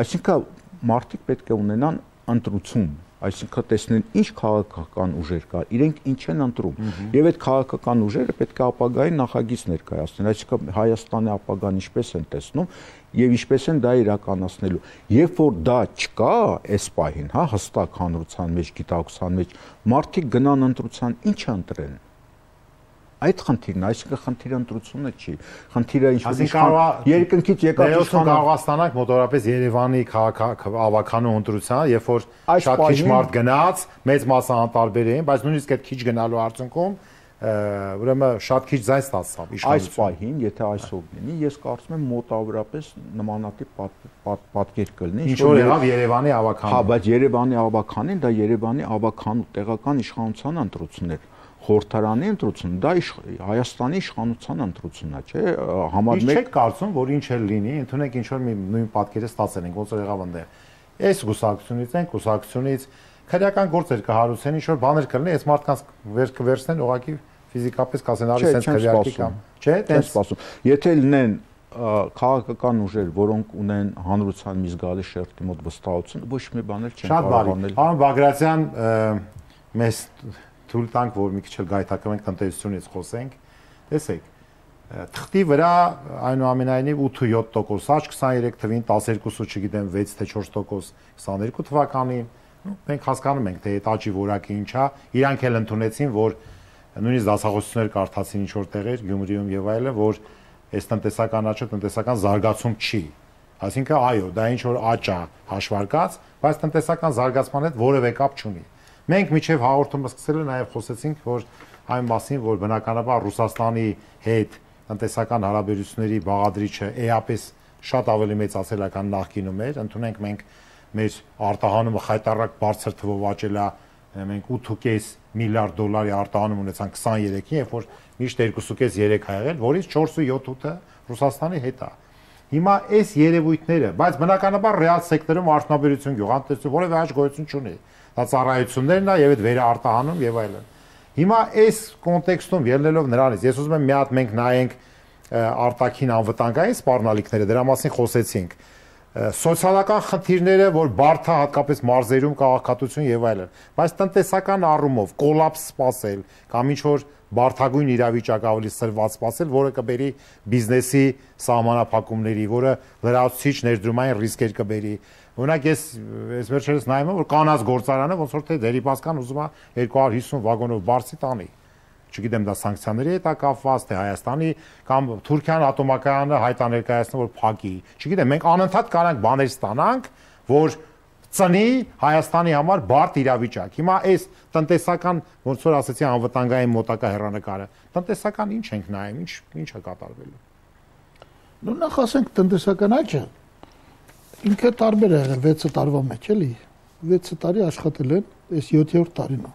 Այսինքն մարդիկ պետք է ունենան ընտրություն, այսինքն տեսնեն ինչ քաղաքական ուժեր կա, իրենք ինչ են ընտրում, եւ այդ քաղաքական ուժերը պետք է ապագային նախագիծ ներկայացնեն, այսինքն Հայաստանի ապագան ինչպես են տեսնում եւ ինչպես են դա իրականացնելու։ Երբ որ դա չկա, այս պահին, հա, հստակ հանրության մեջ, գիտակցության մեջ, մարդիկ գնան ընտրության, ինչ ընտրեն։ Այդ խնդիրն է, այսինքն խնդիրը ընտրությունը չի։ Խնդիրը ինչ-որ երկնքից եկած իշխան կարող է ստանալ մոտավորապես Երևանի քաղաքավականու ընտրության, երբ որ շատ քիչ մարդ գնաց, մեծ մասը անտարբեր էին, բայց նույնիսկ այդ քիչ գնալու արդյունքում ուրեմն շատ քիչ ձայն ստացավ իշխանությունը։ Այս պահին, եթե այսօր լինի, ես կարծում եմ մոտավորապես նմանատիպ պատկեր կլինի։ Ինչ որ եղավ Երևանի ավականին։ Հա, բայց Երևանի ավականին դա Երևանի ավականու տեղական իշխանության ընտրություններ։ Խորհրդարանի ընտրությունը դա Հայաստանի իշխանության ընտրությունն է, չէ՞, համար 1։ Չեք կարծում, որ ինչ էլ լինի, ընդունենք ինչ որ մի նույն պատկերը ստացել ենք, ոնց որ եղավ այնտեղ։ Այս գուսակցությունից են, գուսակցությունից քրեական գործեր կհարուցեն, ինչ որ բաներ կլինի, այս մարդկանց կվերցնեն ուղղակի ֆիզիկապես կասեն արի սենց քրեակի կամ, չէ՞, տենց սպասում։ Եթե լինեն քաղաքական ուժեր, որոնք ունեն հանրության մի զգալի շերտի մոտ վստահություն, ոչ մի բաներ չեն կարող անել։ Պարոն Բագրատյան, մեզ թույլ տանք, որ մի քիչ էլ գայթակղենք տնտեսությունից խոսենք։ Տեսեք, թղթի վրա այնուամենայնիվ 8-7% աճ 23 թվին, 12, չգիտեմ 6 թե 4% 22 թվականին։ Մենք հասկանում ենք, թե այդ աճի որակը ինչ է, իրանք էլ ընդունեցին, որ նույնիսկ դասախոսություններ կարդացին ինչ որ տեղեր Գյումրիում եւ այլն, որ այս տնտեսական աճը տնտեսական զարգացում չի։ Այսինքն այո, դա ինչ որ աճ է հաշվարկած, բայց տնտեսական զարգացման հետ որևէ կապ չունի։ Մենք միջև հաղորդումը սկսել ենք նաև խոսեցինք, որ այն մասին, որ բնականաբար Ռուսաստանի հետ տնտեսական հարաբերությունների բաղադրիչը էապես շատ ավելի մեծացել է, քան նախկինում էր, ընդունենք մենք մեր արտահանումը խայտառակ բարձր թվով աճել է, մենք 8.5 միլիարդ դոլարի արտահանում ունեցանք 23-ին, երբ որ միշտ 2.5-3 ա եղել, որից 4.7-ը Ռուսաստանի հետ է։ Հիմա այս երևույթները, բայց բնականաբար ռեալ սեկտորում արդյունաբերություն, գյուղատնտեսություն որևէ աճ գոյություն չունի։ Դա ծառայություններն է եւ այդ վերարտահանում եւ այլն։ Հիմա այս կոնտեքստում ելնելով նրանից, ես ուզում եմ մի հատ մենք նայենք արտաքին անվտանգային սպառնալիքները, դրա մասին խոսեցինք։ Սոցիալական խնդիրները, որ բարդ է հատկապես մարզերում քաղաքացիություն եւ այլն, բայց տնտեսական առումով կոլապս սպասել կամ ինչ որ բարդագույն իրավիճակ ավելի սրված սպասել, որը կբերի բիզնեսի սահմանափակումների, որը լրացուցիչ ներդրումային ռիսկեր կբերի։ Օրինակ ես վերջերս նայում եմ, որ կանաց գործարանը ոնց որ թե Դերիպասկան ուզում է 250 վագոնով բարձի տանի։ Չգիտեմ դա սանկցիաների հետ է կապված, թե Հայաստանի կամ Թուրքիան ատոմակայանը հայտաներկայացնում որ փակի։ Չգիտեմ, մենք անընդհատ կարանք բաներ ստանանք, որ ծնի Հայաստանի համար բարդ իրավիճակ։ Հիմա այս տնտեսական, ոնց որ ասեցի, անվտանգային մոտակա հեռանկարը, տնտեսական ինչ ենք նայում, ինչ է կատարվելու։ Նու նախ ասենք տնտեսական աճը ինքը տարբեր է եղել 6 տարվա մեջ, էլի։ 6 տարի աշխատել են, այս 7-րդ տարին է։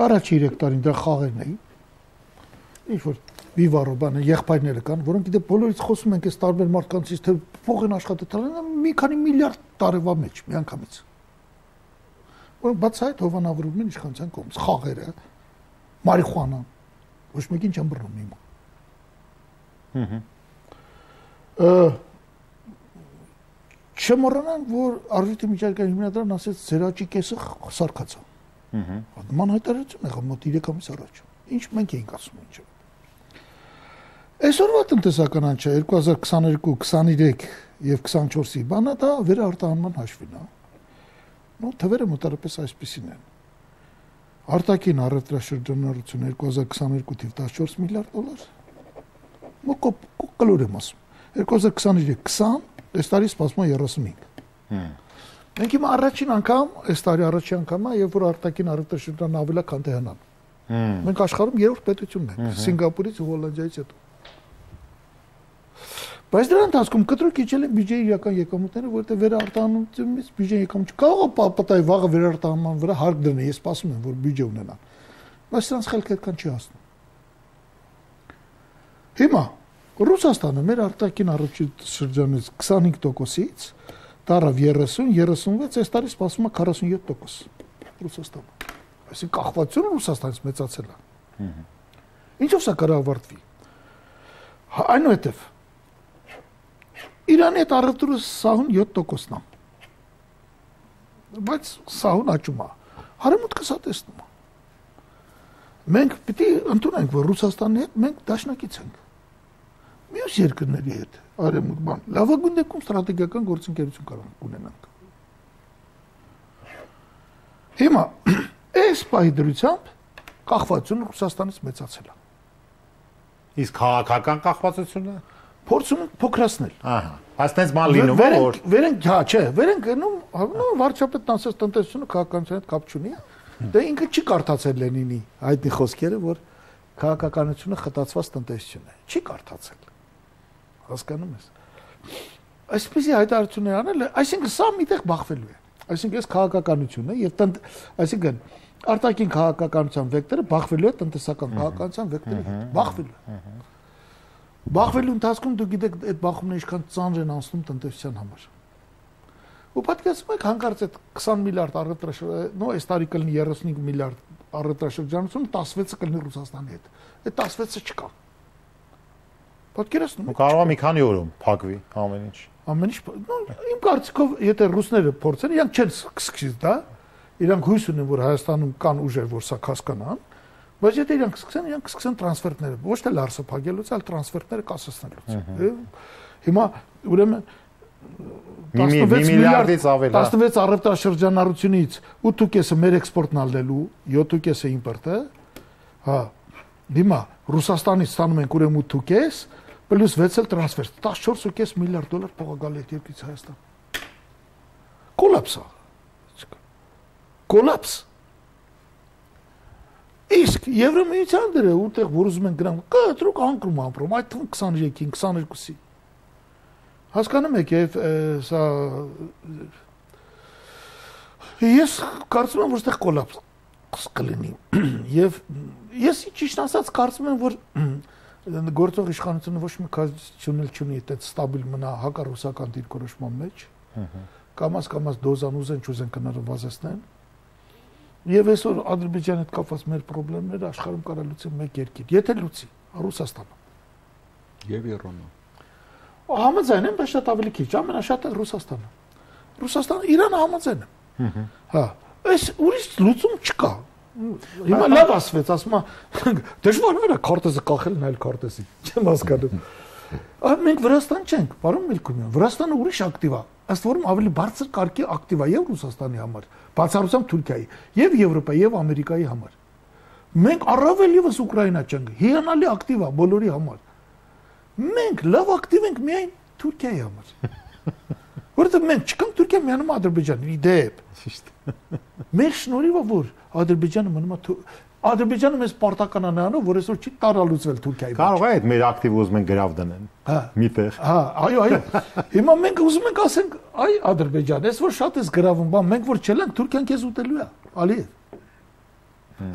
Առաջի 3 տարին դա խաղերն էին։ Ինչ որ վիվարո բանը եղբայրները կան, որոնք գիտե բոլորից խոսում ենք այս տարբեր մարդկանցից, թե փող են աշխատել, մի քանի միլիարդ տարվա մեջ միանգամից։ Որ բաց այդ հովանավորումն են իշխանության կողմից, խաղերը, մարիխուանան, ոչ մեկին չեն բռնում հիմա։ Չմոռանանք, որ Արժույթի միջազգային հիմնադրամն ասեց ձեր աճի կեսը սարկացա։ Ման հայտարարություն եղավ մոտ 3 ամիս առաջ։ Ինչ մենք էինք ասում ինչը։ Այսօրվա տնտեսական անջը 2022, 23 եւ 24-ի բանը դա վերարտահանման հաշվին է։ Ну, թվերը մոտարապես այսպեսին են։ Արտաքին առևտրաշրջանառություն 2022 թիվ 14 միլիարդ դոլար։ Կլոր եմ ասում։ 2023 20, այս տարի սպասվում է 35։ Մենք հիմա առաջին անգամ, այս տարի առաջին անգամը, երբ որ արտաքին առևտրաշրջանը ավելի քան Թեհրանն։ Մենք աշխարհում երրորդ պետությունն ենք, Սինգապուրից ու Հոլանդիայից հետո։ Բայց դրա ընթացքում կտրուկ իջել են բյուջեի իրական եկամուտները, որովհետև վերարտահանումից բյուջեի եկամուտ կարող է պատահի վաղը վերարտահանման վրա հարկ դրնի, ես սպասում եմ, որ բյուջե ունենան։ Բայց նրանց խելքը այդքան չի հասնում։ Հիմա Ռուսաստանը մեր արտաքին առևտրաշրջանից 25%-ից դարավ 30, 36, այս տարի սպասվում է 47% Ռուսաստանը։ Այսինքն կախվածությունը Ռուսաստանից մեծացել է։ Ինչով սա կարող ավարտվի։ Այնուհետև Իրանի հետ առևտուրը սահուն 7%-ն է։ Բայց սահուն աճում է։ Հարեմուտքը սա տեսնում է։ Մենք պիտի ընդունենք, որ Ռուսաստանի հետ մենք դաշնակից ենք։ Մյուս երկրների հետ արեմուտ բան, լավագույն դեպքում ստրատեգիական գործընկերություն կարող ունենանք։ Հիմա այս պահի դրությամբ կախվածությունը Ռուսաստանից մեծացել է։ Իսկ քաղաքական կախվածությունը փորձում ենք փոքրացնել։ Ահա, բայց տես բան լինում է որ վերենք, հա, չէ, վերենք գնում, վարչապետն ասած տնտեսությունը քաղաքականության հետ կապ չունի։ Դե ինքը չի կարդացել Լենինի հայտնի խոսքերը, որ քաղաքականությունը խտացված տնտեսություն է։ Չի կարդացել։ Հասկանում ես։ Այսպեսի հայտարարություններ անել, այսինքն սա միտեղ բախվելու է։ Այսինքն այս քաղաքականությունը եւ այսինքն արտաքին քաղաքականության վեկտորը բախվելու է տնտեսական քաղաքականության վեկտորի հետ։ Բախվելու է։ Բախվելու ընթացքում դուք գիտեք այդ բախումները ինչքան ծանր են անցնում տնտեսության համար։ Ու պատկերացնում եք հանկարծ այդ 20 միլիարդ առևտրաշրջան, նո այս տարի կլինի 35 միլիարդ առևտրաշրջանություն, 16-ը կլինի Ռուսաստանի հետ։ Այդ 16-ը չկա։ Պատկերացնում եք։ Կարող է մի քանի օրում փակվի ամեն ինչ։ Ամեն ինչ, իմ կարծիքով, եթե ռուսները փորձեն, իրանք չեն սկսի դա, իրանք հույս ունեն, որ Հայաստանում կան ուժեր, որ սա հասկանան, բայց եթե իրանք սկսեն տրանսֆերտները, ոչ թե լարսը փակելուց, այլ տրանսֆերտները կասեցնելուց։ Հիմա ուրեմն 16 միլիարդից ավել, 16 առևտրաշրջանառությունից 8.5-ը մեր էքսպորտն ալնելու, 7.5-ը իմպորտը, հա, հիմա Ռուսաստանից ստանում ենք ուրեմն 8.5 պլյուս 6 էլ տրանսֆեր, 14.5 միլիարդ դոլար փող գալի այդ երկրից Հայաստան։ Կոլապս է։ Կոլապս։ Իսկ Եվրամիության դերը ուտեղ որ ուզում են գնան, կտրուկ անկրում ամպրում, այդ թվում 23-ին, 22-ի։ Հասկանում եք, եւ սա ես կարծում եմ, որ այդտեղ կոլապս կլինի։ Եվ ես ճիշտ ասած կարծում եմ, որ գործող իշխանությունը ոչ մի կազմություն չունի այդպես ստաբիլ մնա հակառուսական դիրքորոշման մեջ։ Կամաց դոզան ուզեն չուզեն կնարվազեցնեն։ Եվ այսօր Ադրբեջանի հետ կապված մեր խնդիրները աշխարհում կարա լուծի մեկ երկիր, եթե լուծի Ռուսաստանը։ Եվ Իրանը։ Համաձայն եմ, բայց շատ ավելի քիչ, ամենաշատը Ռուսաստանը։ Ռուսաստանը Իրանը համաձայն է։ Հա, այս ուրիշ լուծում չկա։ Հիմա լավ ասվեց, ասում է դժվար է քարտեզը կախելն այլ քարտեզի։ Չեմ հասկանում։ Մենք Վրաստան չենք, պարոն Մելքումյան, Վրաստանը ուրիշ ակտիվ է։ Ըստ որում ավելի բարձր կարգի ակտիվ է եւ Ռուսաստանի համար, բացառությամբ Թուրքիայի, եւ Եվրոպայի եւ Ամերիկայի համար։ Մենք առավել եւս Ուկրաինա չենք, հիանալի ակտիվ է բոլորի համար։ Մենք լավ ակտիվ ենք միայն Թուրքիայի համար։ Որովհետեւ մենք չկան Թուրքիա միանում Ադրբեջանին, իդեպ։ Ճիշտ։ Մեր շնորհիվ որ Ադրբեջանը մնում է Ադրբեջանը մեզ պարտական անանով, որ այսօր չի տարալուծվել Թուրքիայի մեջ։ Կարող է այդ մեր ակտիվ ուզում են գրավ դնեն։ Հա, միտեղ։ Հա, այո։ Հիմա մենք ուզում ենք ասենք, այ Ադրբեջան, ես որ շատ ես գրավում, բան, մենք որ չելանք, Թուրքիան քեզ ուտելու է, Ալիև։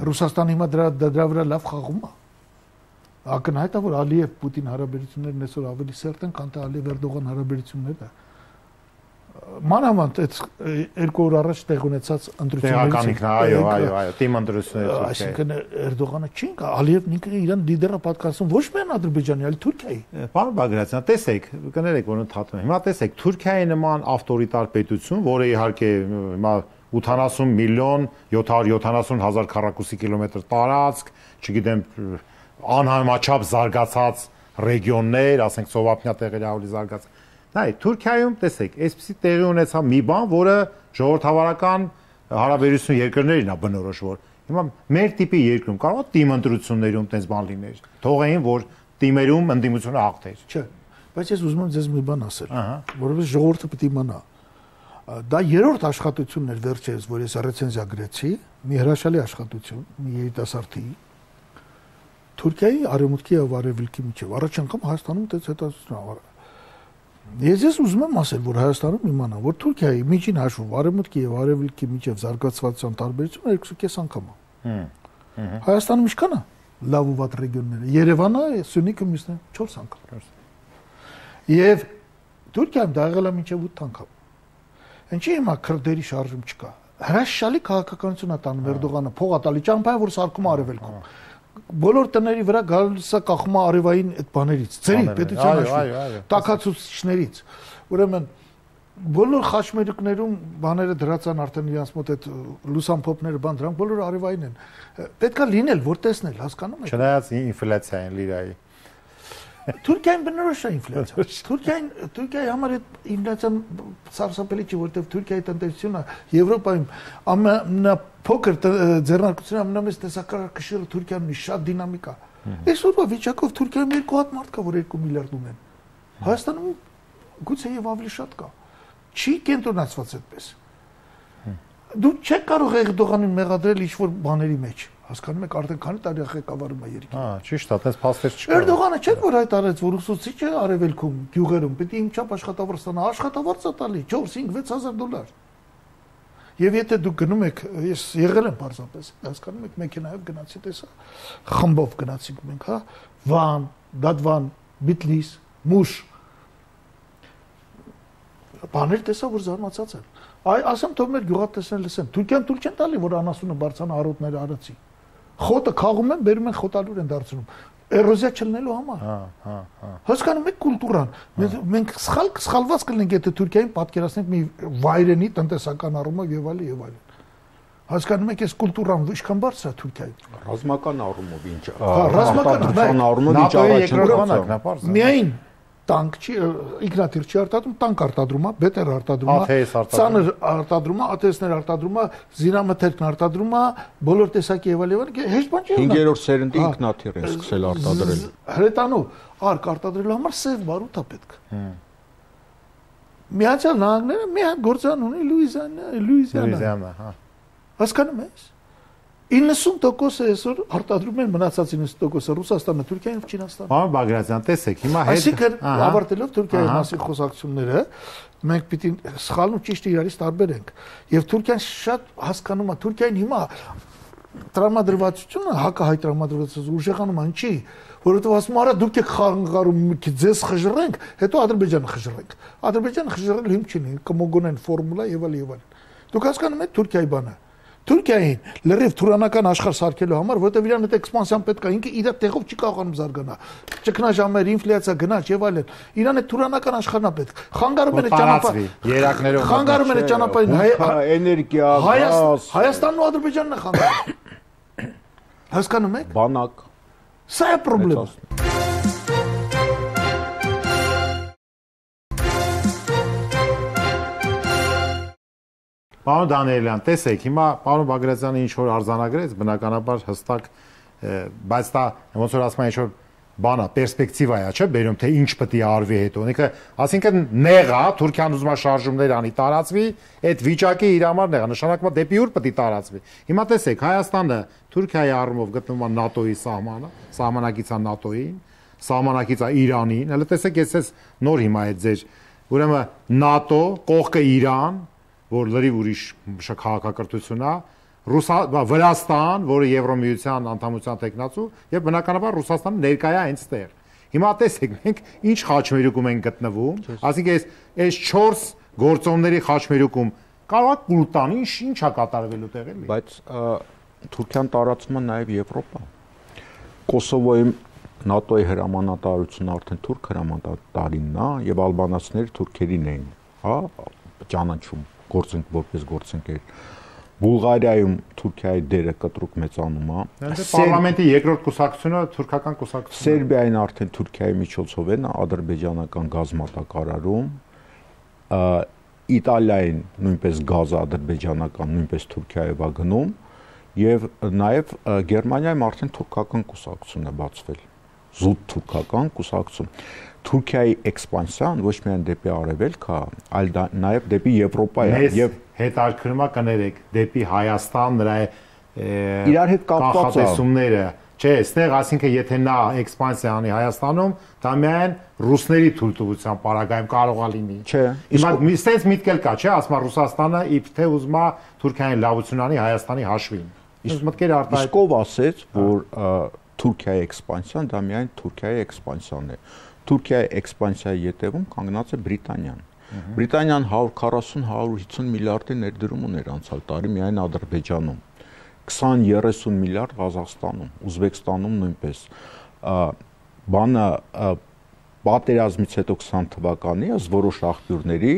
Ռուսաստանը հիմա դրա վրա լավ խաղում է։ Ակնհայտ է, որ Ալիև Պուտին հարաբերություններն այսօր ավելի սերտ են, քան թե Ալիև-Էրդողան հարաբերությունները։ Մանավանդ այդ 2 օր առաջ տեղ ունեցած ընտրություններից այո, թիմ ընտրություններից։ Այսինքն Էրդողանը չի ինքը Ալիևն ինքը իրան լիդերը պատկասում ոչ միայն Ադրբեջանի, այլ Թուրքիայի։ Պարոն Բագրատյան, տեսեք, կներեք, որ ընդհատում եմ։ Հիմա տեսեք, Թուրքիայի նման ավտորիտար պետություն, որը իհարկե հիմա 80 միլիոն 770 հազար քառակուսի կիլոմետր տարածք, չգիտեմ, անհամաչափ զարգացած ռեգիոններ, ասենք Սովապնյա տեղերի ավելի զարգացած։ Նայ, Թուրքիայում տեսեք, այսպեսի տեղի ունեցավ մի բան, որը ժողովրդավարական հարաբերություն երկրներին է բնորոշ, որ հիմա մեր տիպի երկրում կարող է թիմ ընտրություններում տես բան լիներ։ Թողեին, որ թիմերում ընդդիմությունը հաղթեր։ Չէ, բայց ես ուզում եմ ձեզ մի բան ասել, որովհետեւ ժողովուրդը պիտի իմանա։ Դա երրորդ աշխատությունն էր վերջերս, որ ես ռեցենզիա գրեցի, մի հրաշալի աշխատություն, մի երիտասարդի Թուրքիայի արևմուտքի եւ արևելքի միջեւ։ Առաջ անգամ Հայաստանում դες հետազոտություն։ Ես ուզում եմ ասել, որ Հայաստանում իմանա, որ Թուրքիայի միջին հաշվով արևմուտքի եւ արևելքի միջեւ զարգացվածության տարբերությունը 2.5 անգամ է։ Հայաստանում ինչքան է լավ ու վատ ռեգիոնները։ Երևանը, Սյունիքը մյուսն 4 անգամ։ Եվ Թուրքիայում դա եղել է մինչև 8 անգամ։ Ինչի՞ հիմա քրդերի շարժում չկա։ Հրաշալի քաղաքականություն է տանում Էրդողանը, փող է տալի ճամփայ, որ սարքում արևելքում։ Բոլոր տների վրա գալիս է կախում արևային այդ բաներից, ծերի պետության տակացուցիչներից։ Ուրեմն բոլոր խաչմերուկներում բաները դրած են արդեն իրancs մոտ այդ լուսամփոփները բան դրանք բոլորը արևային են։ Պետքա լինել, որ տեսնել, հասկանում եք։ Չնայած ինֆլյացիային լիրայի։ Թուրքիային բնորոշ է ինֆլյացիա։ Թուրքիայի համար այդ ինֆլյացիան սարսափելի չի, որովհետև Թուրքիայի տնտեսությունը Եվրոպայում ամենափոքր ձեռնարկությունը ամենամեծ տեսակարգը Թուրքիայում է, շատ դինամիկ է։ Այսօրվա վիճակով Թուրքիայում 2 հատ մարդ կա, որ 2 միլիարդ ունեն։ Հայաստանում գուցե եւ ավելի շատ կա։ Չի կենտրոնացված այդպես։ Դու չեք կարող Էրդողանին մեղադրել ինչ-որ բաների մեջ։ Հասկանում եք, արդեն քանի տարի ղեկավարում է երկիրը։ Ճիշտ է, այդպես փաստեր չկա։ Էրդողանը չէ որ հայտարարեց, որ ուսուցիչը արևելքում, գյուղերում պիտի իմ չափ աշխատավարձ ստանա, աշխատավարձ է տալի 4-5-6000 $։ Եվ եթե դուք գնում եք, ես եղել եմ պարզապես, հասկանում եք, մեքենայով գնացի տեսա, խմբով գնացինք մենք, հա, Վան, Դադվան, Բիտլիս, Մուշ։ Բաներ տեսա, որ զարմացած եմ։ Ասեմ թող մեր գյուղատնտեսներն լսեն։ Թուրքիան թույլ չեն տալի, որ անասունը բարձրանա արոտները արածի։ Խոտը քաղում են, բերում են խոտալուր են դարձնում։ Էրոզիա չլինելու համար։ Հասկանում եք կուլտուրան։ Մենք սխալված կլինենք, եթե Թուրքիային պատկերացնենք մի վայրենի տնտեսական առումով եւ այլն եւ այլն։ Հասկանում եք, այս կուլտուրան ինչքան բարձր է Թուրքիայում։ Ռազմական առումով ինչ։ Ռազմական առումով ինչ առաջ միայն տանկ չի, ինքնաթիռ չի արտադրում, տանկ արտադրում է, բետեր արտադրում է, ծանր արտադրում է, ԱԹՍ-ներ արտադրում է, զինամթերքն արտադրում է, բոլոր տեսակի եւ այլն, հեշտ բան չի։ 5-րդ սերնդի ինքնաթիռ է սկսել արտադրել։ Հրետանու արկ արտադրելու համար սև բարութ է պետք։ Միացյալ Նահանգները մի հատ գործան ունի Լուիզիանա։ Հասկանում ես։ 90% այսօր արտադրում են մնացած 90% Ռուսաստանը, Թուրքիան եւ Չինաստանը։ Պարոն Բագրատյան, տեսեք, հիմա հետ այսինքն ավարտելով Թուրքիայի մասին խոսակցությունները, մենք պիտի սխալն ու ճիշտը իրարից տարբերենք։ Եվ Թուրքիան շատ հասկանում է, Թուրքիային հիմա տրամադրվածությունը, հակահայ տրամադրվածությունը ուժեղանում է, ինչի, որովհետեւ ասում արա դուք եք խանգարում, ձեզ խժռենք, հետո Ադրբեջանը խժռենք։ Ադրբեջանը խժռել հիմք չունի, կմոգոնեն ֆորմուլա եւ այլն։ Դուք հասկանում եք Թուրքիայի բանը։ Թուրքիային լրիվ թուրանական աշխարհ սարքելու համար, որովհետև իրան այդ էքսպանսիան պետք է, ինքը իր տեղով չի կարողանում զարգանա։ Ճգնաժամեր, ինֆլյացիա, գնաճ եւ այլն։ Իրան այդ թուրանական աշխարհն է պետք։ Խանգարում են այդ ճանապարհը։ Երակներով խանգարում են այդ ճանապարհին էներգիա, գազ։ Հայաստանն ու Ադրբեջանն է խանգարում։ Հասկանում եք։ Բանակ։ Սա է խնդիրը։ Պարոն Դանիելյան, տեսեք, հիմա պարոն Բագրատյանը ինչ որ արձանագրեց, բնականաբար հստակ, բայց դա ոնց որ ասում են ինչ որ բանա, պերսպեկտիվա է, չէ՞, բերում թե ինչ պետք է արվի հետո։ Այսինքն նեղա, Թուրքիան ուզում է շարժումներ անի, տարածվի, այդ վիճակի իր համար նեղա, նշանակում է դեպի ուր պետք է տարածվի։ Հիմա տեսեք, Հայաստանը Թուրքիայի առումով գտնվում է ՆԱՏՕ-ի սահմանակից է ՆԱՏՕ-ին, սահմանակից է Իրանին։ Հələ տեսեք, ես նոր հիմա այդ ձեր, ուրեմն ՆԱՏՕ, կողքը Իրան, որ լրիվ ուրիշ քաղաքակրթություն է, Վրաստան, որը Եվրոմիության անդամության տեխնացու, եւ բնականաբար Ռուսաստանը ներկայ է այնտեղ։ Հիմա տեսեք, մենք ինչ խաչմերուկում ենք գտնվում, այսինքն այս 4 գործոնների խաչմերուկում կարող է կուլտան ինչ է կատարվելու տեղ էլի։ Բայց Թուրքիան տարածում է նաեւ Եվրոպա։ Կոսովոյում ՆԱՏՕ-ի հրամանատարությունը արդեն թուրք հրամանատարինն է եւ ալբանացիները թուրքերին էին, հա, ճանաչում գործենք որպես գործընկեր։ Բուլղարիայում Թուրքիայի դերը կտրուկ մեծանում է։ Պարլամենտի երկրորդ կուսակցությունը թուրքական կուսակցություն է։ Սերբիային արդեն Թուրքիայի միջոցով են ադրբեջանական գազ մատակարարում։ Իտալիային նույնպես գազը ադրբեջանական նույնպես Թուրքիայով է գնում եւ նաեւ Գերմանիայում արդեն թուրքական կուսակցություն է բացվել։ Զուտ թուրքական կուսակցություն։ Թուրքիայի էքսպանսիան ոչ միայն դեպի արևելք է, այլ նաեւ դեպի Եվրոպա է եւ հետաքրքրումա կներեք դեպի Հայաստան նրա իրար հետ կապված է։ Չէ, այստեղ ասինքն եթե նա էքսպանսիա անի Հայաստանում, դա միայն ռուսների թույլտվության պարագայում կարող է լինի։ Չէ։ Հիմա այստեղ միտքել կա, չէ, ասում է Ռուսաստանը իբթե ուզում է Թուրքիային լավություն անի Հայաստանի հաշվին։ Իսկ մտքերը արտահայտ։ Իսկ ով ասեց, որ Թուրքիայի էքսպանսիան դա միայն Թուրքիայի էքսպանսիան է։ Թուրքիայի էքսպանսիայի ետևում կանգնած է Բրիտանիան։ Բրիտանիան 140-150 միլիարդի ներդրում ուներ անցյալ տարի միայն Ադրբեջանում, 20-30 միլիարդ Ղազախստանում, Ուզբեկստանում նույնպես։ Բանը պատերազմից հետո 20 թվականի ըստ որոշ աղբյուրների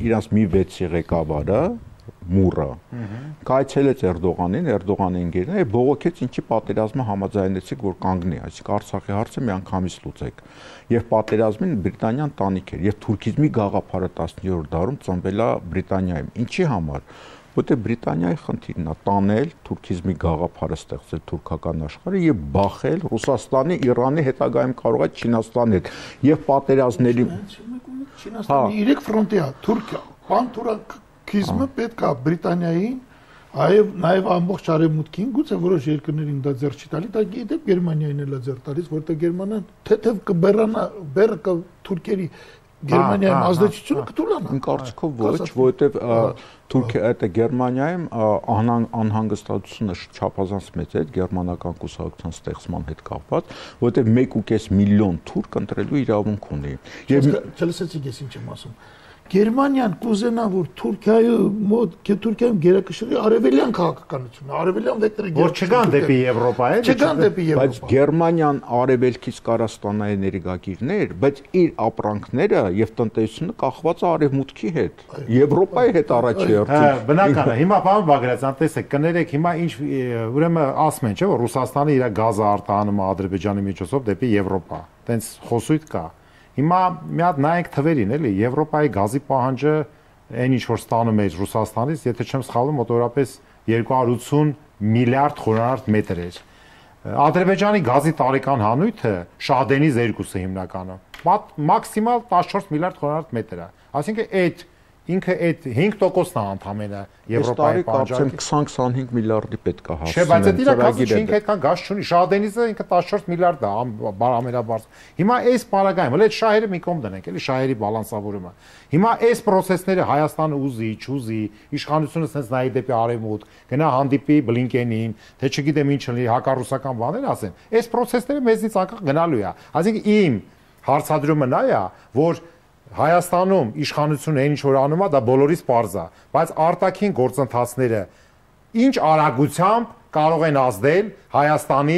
իրանց մի 6-ի ղեկավարը Մուրը կայցելեց Էրդողանին, Էրդողանի ընկերները եւ բողոքեց ինչի պատերազմը համաձայնեցիք որ կանգնի, այսինքն Արցախի հարցը միանգամից լուծեք։ Եվ պատերազմին Բրիտանիան տանիք էր եւ թուրքիզմի գաղափարը 17-րդ դարում ծնվել է Բրիտանիայում։ Ինչի համար։ Որտեղ Բրիտանիայի խնդիրն է տանել թուրքիզմի գաղափարը ստեղծել թուրքական աշխարհը եւ բախել Ռուսաստանի, Իրանի հետագայում կարող է Չինաստանի հետ եւ պատերազմների Չինաստանի 3 ֆրոնտի է Թուրքիա, պանթուրքիզմը պետք է Բրիտանիային նաև ամբողջ արևմուտքին գուցե որոշ երկրներին դա ձեռ չի տալի, դա գիտեք Գերմանիային էլ է ձեռ տալիս, որտեղ Գերմանիան թեթև կբերանա բեռը թուրքերի Գերմանիայում ազդեցությունը կտուլանա։ Իմ կարծիքով ոչ, որովհետև Թուրքիա այդ Գերմանիայում անհանգստությունը չափազանց մեծ է գերմանական կուսակցության ստեղծման հետ կապված, որովհետև 1.5 միլիոն թուրք ընտրելու իրավունք ունի։ Եվ չլսեցիք ես ինչ եմ ասում։ Գերմանիան կուզենա որ Թուրքիայում գերակշռի արևելյան քաղաքականությունը, արևելյան վեկտորը որ չգան դեպի Եվրոպա, չգան դեպի Եվրոպա։ Բայց Գերմանիան արևելքից կարա ստանա էներգագիրներ, բայց իր ապրանքները եւ տնտեսությունը կախված է արևմուտքի հետ, Եվրոպայի հետ առաջերտում։ Բնական է։ Հիմա պարոն Բագրատյան, տեսեք, կներեք, հիմա ինչ ուրեմն ասում են, չէ՞ որ Ռուսաստանը իր գազը արտահանում է Ադրբեջանի միջոցով դեպի Եվրոպա։ Տենց խոսույթ կա։ Հիմա մի հատ նայենք թվերին, էլի, Եվրոպայի գազի պահանջը այն ինչ որ ստանում է Ռուսաստանից, եթե չեմ սխալվում, մոտավորապես 280 միլիարդ խորանարդ մետր էր։ Ադրբեջանի գազի տարեկան հանույթը Շահդենիz 2-ը հիմնականը, մաքսիմալ 14 միլիարդ խորանարդ մետր է։ Այսինքն այդ ինքը այդ 5%-ն է ընդամենը Եվրոպայի պահանջարկի 20-25 միլիարդի պետք է հասնեն։ Չէ, բայց դա իր կազմը այդքան գազ չունի։ Շահդենիզը ինքը 14 միլիարդ է, ամենաբարձր։ Հիմա այս պարագայում, հələ այդ շահերը մի կողմ դնենք, էլի շահերի բալանսավորումը։ Հիմա այս process-ները Հայաստանը ուզի, չուզի, իշխանությունը sense նայի դեպի արևմուտք, գնա հանդիպի Բլինկենին, թե չգիտեմ ինչ լինի, հակառուսական բաներ ասեն։ Այս process-ները մեզնից անկախ գնալու է։ Այսինքն իմ հարցադրումը նա է, որ Հայաստանում իշխանությունը այն ինչ որ անում է, դա բոլորից պարզ է, բայց արտաքին գործընթացները ինչ արագությամբ կարող են ազդել Հայաստանի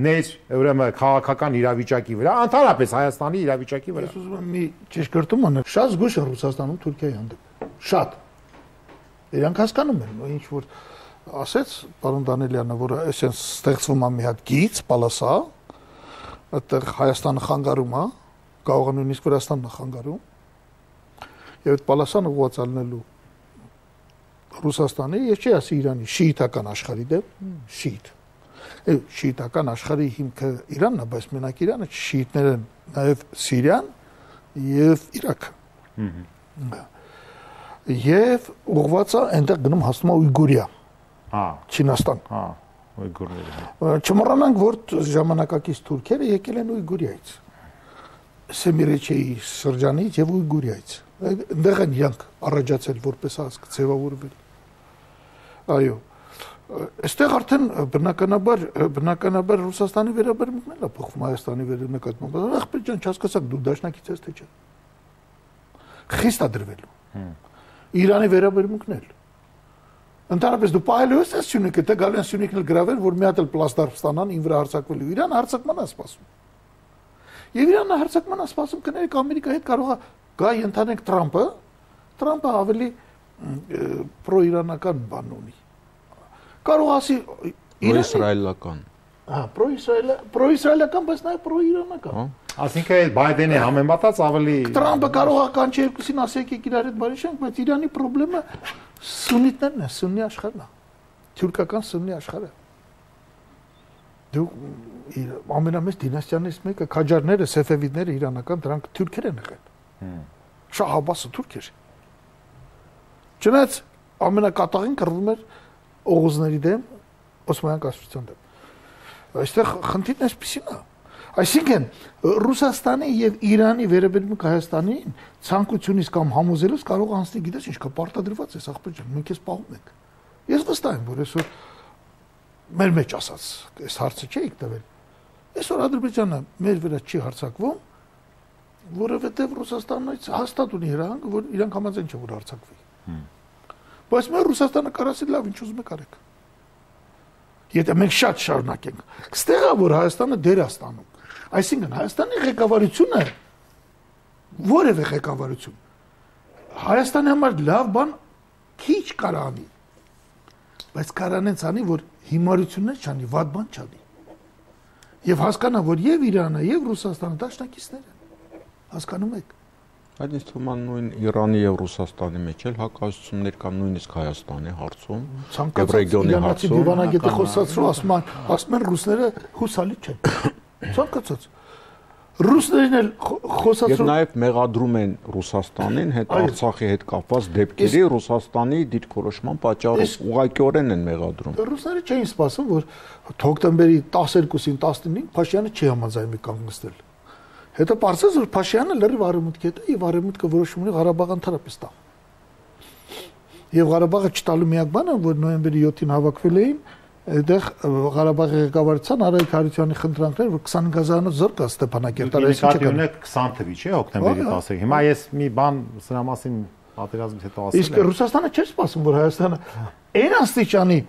ներ ուրեմն քաղաքական իրավիճակի վրա, ընդհանրապես Հայաստանի իրավիճակի վրա։ Ես ուզում եմ մի ճշգրտում անել։ Շատ զգույշ է Ռուսաստանում Թուրքիայի հանդեպ։ Շատ։ Իրանք հասկանում են, ինչ որ ասեց պարոն Դանիելյանը, որ այսպես ստեղծվում է մի հատ գիծ, պալասա, այդտեղ Հայաստանը խանգարում է, կարող է նույնիսկ Վրաստանն է խանգարում։ Եվ այդ պալասան ուղղված ալնելու Ռուսաստանի, ես չի ասի Իրանի շիիտական աշխարհի դեմ, շիիտ։ Շիիտական աշխարհի հիմքը Իրանն է, բայց մենակ Իրանը շիիտներ են նաև Սիրիան եւ Իրաքը։ Եվ ուղղված է այնտեղ գնում հասնում է Ույգուրիա։ Չինաստան։ Ույգուրները։ Չմոռանանք, որ ժամանակակից թուրքերը եկել են Ույգուրիայից։ Սեմիրեչեի շրջանից եւ Ույգուրիայից։ Այնտեղ են իրանք առաջացել որպես ազգ ձևավորվել։ Այո։ Այստեղ արդեն բնականաբար Ռուսաստանի վերաբերմունքն է փոխվում Հայաստանի վերաբերմունքով։ Ախպեր ջան, չհասկացաք դու դաշնակից ես թե չէ։ Խիստ է դրվելու։ Իրանի վերաբերմունքն էլ։ Ընդհանրապես դու պահելու ես այս Սյունիքը, թե գալու են Սյունիքն էլ գրավել, որ մի հատ էլ պլաստար ստանան, ին վրա հարձակվելու։ Իրանը հարձակման է սպասում։ Եվ Իրանը հարձակման է սպասում, կներեք Ամերիկայի հետ կարող է գա ընդհանրենք Թրամփը ավելի պրոիրանական բան ունի։ Կարող ասի Իսրայելական։ Հա, պրոիսրայելական, բայց նաև պրոիրանական։ Այսինքն Բայդենի համեմատած ավելի Տրամպը կարող է կանչի երկուսին ասի եկեք իրար հետ բարի շենք, բայց Իրանի խնդրեմը սուննիտներն են, սուննի աշխարհն է։ Թուրքական սուննի աշխարհը։ Դու ամենամեծ դինաստիաներից մեկը քաջարները, սեֆևիդները իրանական, դրանք թուրքեր են եղել։ Շահ Աբբասը թուրք էր։ Չնայած ամենակատաղին կռվում էր օղուզների դեմ, Օսմանյան կայսրության դեմ։ Այստեղ խնդիրն էսպիսին է։ Այսինքն Ռուսաստանի եւ Իրանի վերաբերմունք Հայաստանին ցանկությունից կամ համոզելուց կարող անցնի, գիտես ինչ, կա պարտադրված է, ախպեր ջան, մենք էս պահում ենք։ Ես վստահ եմ, որ այսօր մեր մեջ ասած, այս հարցը չէիք տվել։ Այսօր Ադրբեջանը մեր վրա չի հարձակվում, որովհետեւ Ռուսաստանից հաստատ ունի հրահանգ, որ իրանք համաձայն չեն որ հարձակվի։ Բայց մեր Ռուսաստանը կարասի լավ ինչ ուզում եք արեք։ Եթե մենք շատ շարունակենք, ստեղ է որ Հայաստանը դեր է ստանում։ Այսինքն Հայաստանի ղեկավարությունը որևէ ղեկավարություն Հայաստանի համար լավ բան քիչ կարանի։ Բայց կարանենց անի, որ հիմարություններ չանի, վատ բան չանի։ Եվ հասկանա, որ եւ Իրանը, եւ Ռուսաստանը դաշնակիցներ են։ Հասկանում եք։ Այդ ինձ թվում է նույն Իրանի եւ Ռուսաստանի մեջ էլ հակազդություններ կան նույնիսկ Հայաստանի հարցում եւ ռեգիոնի հարցում։ Դիվանագետը խոսացրու ասում են ռուսները հուսալի չեն։ Ցանկացած ռուսներն էլ խոսացրու եւ նաեւ մեղադրում են Ռուսաստանին հետ Արցախի հետ կապված դեպքերի Ռուսաստանի դիրքորոշման պատճառով ուղղակիորեն են մեղադրում։ Ռուսները չէին սպասում, որ հոկտեմբերի 12-ին 19-ին Փաշինյանը չի համաձայնի կանգնեցնել։ Հետո պարզեց, որ Փաշինյանը լրիվ արևմուտքի հետ է եւ արևմուտքը որոշում ունի Ղարաբաղը ընդհանրապես տա։ Եվ Ղարաբաղը չտալու միակ բանը, որ նոյեմբերի 7-ին հավաքվել էին, այդտեղ Ղարաբաղի ղեկավարության Արայք Հարությունյանի խնդրանքներ, որ 25000-ով զորք կա Ստեփանակերտը, այսինքն 20 թվի չէ, հոկտեմբերի 10-ը։ Հիմա ես մի բան սրա մասին պատերազմից հետո ասել եմ։ Իսկ Ռուսաստանը չէր սպասում, որ Հայաստանը այն աստիճանի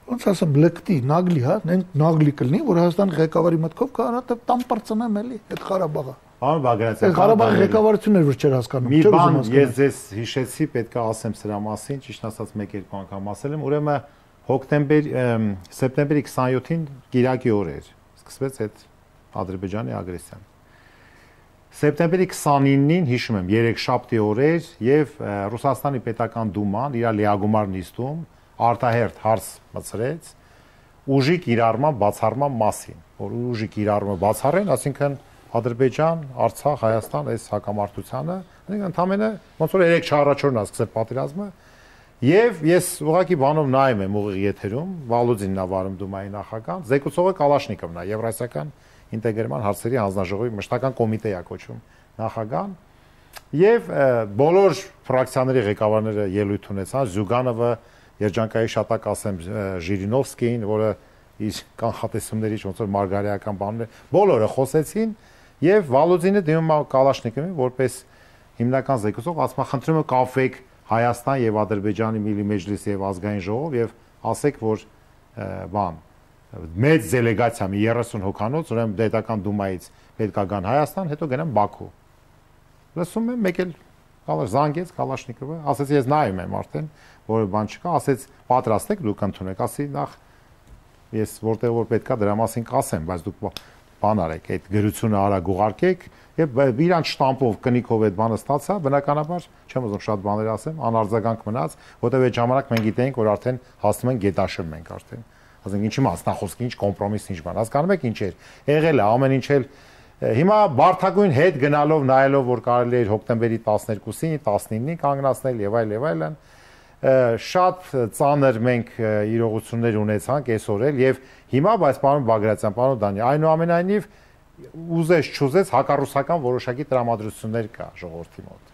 ոնց ասեմ, լեկտի, նագլի, հա, նագլի կլինի, որ Հայաստանի ղեկավարի մտքով կարա տամ պրծնեմ էլի այդ Ղարաբաղը։ Պարոն Բագրատյան, Ғարաբաղի ղեկավարությունն էր որ չէր հասկանում։ Մի բան ես ձեզ հիշեցի, պետք է ասեմ սրա մասին, ճիշտ ասած 1-2 անգամ ասել եմ, ուրեմն սեպտեմբերի 27-ին Կիրակի օր էր, սկսվեց այդ Ադրբեջանի ագրեսիան։ Սեպտեմբերի 29-ին հիշում եմ 3 շաբթի օր էր եւ Ռուսաստանի պետական դուման իր լիագումար նիստում արտահերթ հարց մցրեց ուժի կիրառման բացառման մասին, որ ուժի կիրառումը բացառեն, ասինքն Ադրբեջան, Արցախ, Հայաստան այս հակամարտությանը, ընդամենը ոնց որ 3 չառաջորն է սկսել պատերազմը, եւ ես ուղղակի բանով նայում եմ ուղիղ եթերում, Վալուդինն է վարում դումայի նախագահ, զեկուցողը Կալաշնիկովն է, Եվրասիական ինտեգրման հարցերի հանձնաժողովի մշտական կոմիտեի է կոչվում նախագահան, եւ բոլոր ֆրակցիաների ղեկավարները ելույթ ունեցան, Զյուգանովը, Երջանկայի շատակ ասեմ Ժիրինովսկին, որը իր կանխատեսումներից ոնց որ մարգարեական բաներ, բոլորը խոսեցին եւ Վալուդինը դիմում է Կալաշնիկովին որպես հիմնական զեկուցող, ասում է խնդրում եմ կապվեք Հայաստան եւ Ադրբեջանի Միլի Մեջլիս եւ ազգային ժողով եւ ասեք, որ բան մեծ դելեգացիա մի 30 հոգանոց, ուրեմն պետական դումայից պետք է գան Հայաստան, հետո գնան Բաքու։ Լսում եմ մեկ էլ զանգեց Կալաշնիկովը, ասեց ես նայում եմ արդեն, որը բան չկա, ասեց պատրաստ եք դուք ընդունեք, ասի նախ ես որտեղ որ պետքա դրա մասին կասեմ, բայց դուք բան արեք, այդ գրությունը արագ ուղարկեք եւ իրան շտամպով կնիկով այդ բանը ստացա, բնականաբար չեմ ուզում շատ բաներ ասեմ, անարձագանք մնաց, որտեղ այդ ժամանակ մենք գիտենք, որ արդեն հասնում ենք գետաշեմ մենք արդեն։ Ասենք ինչի մասնախոսք, ինչ կոմպրոմիս, ինչ բան, հասկանում եք ինչ էր։ Եղել է ամեն ինչ էլ հիմա բարթագույն հետ գնալով նայելով որ կարելի էր հոկտեմբերի 12-ին, 19-ին կանգնացնել եւ այլն, շատ ծանր մենք իրողություններ ունեցանք այսօր էլ եւ հիմա բայց պարոն Բագրատյան, պարոն Դանի, այնուամենայնիվ ուզես չուզես հակառուսական որոշակի տրամադրություններ կա ժողովրդի մոտ։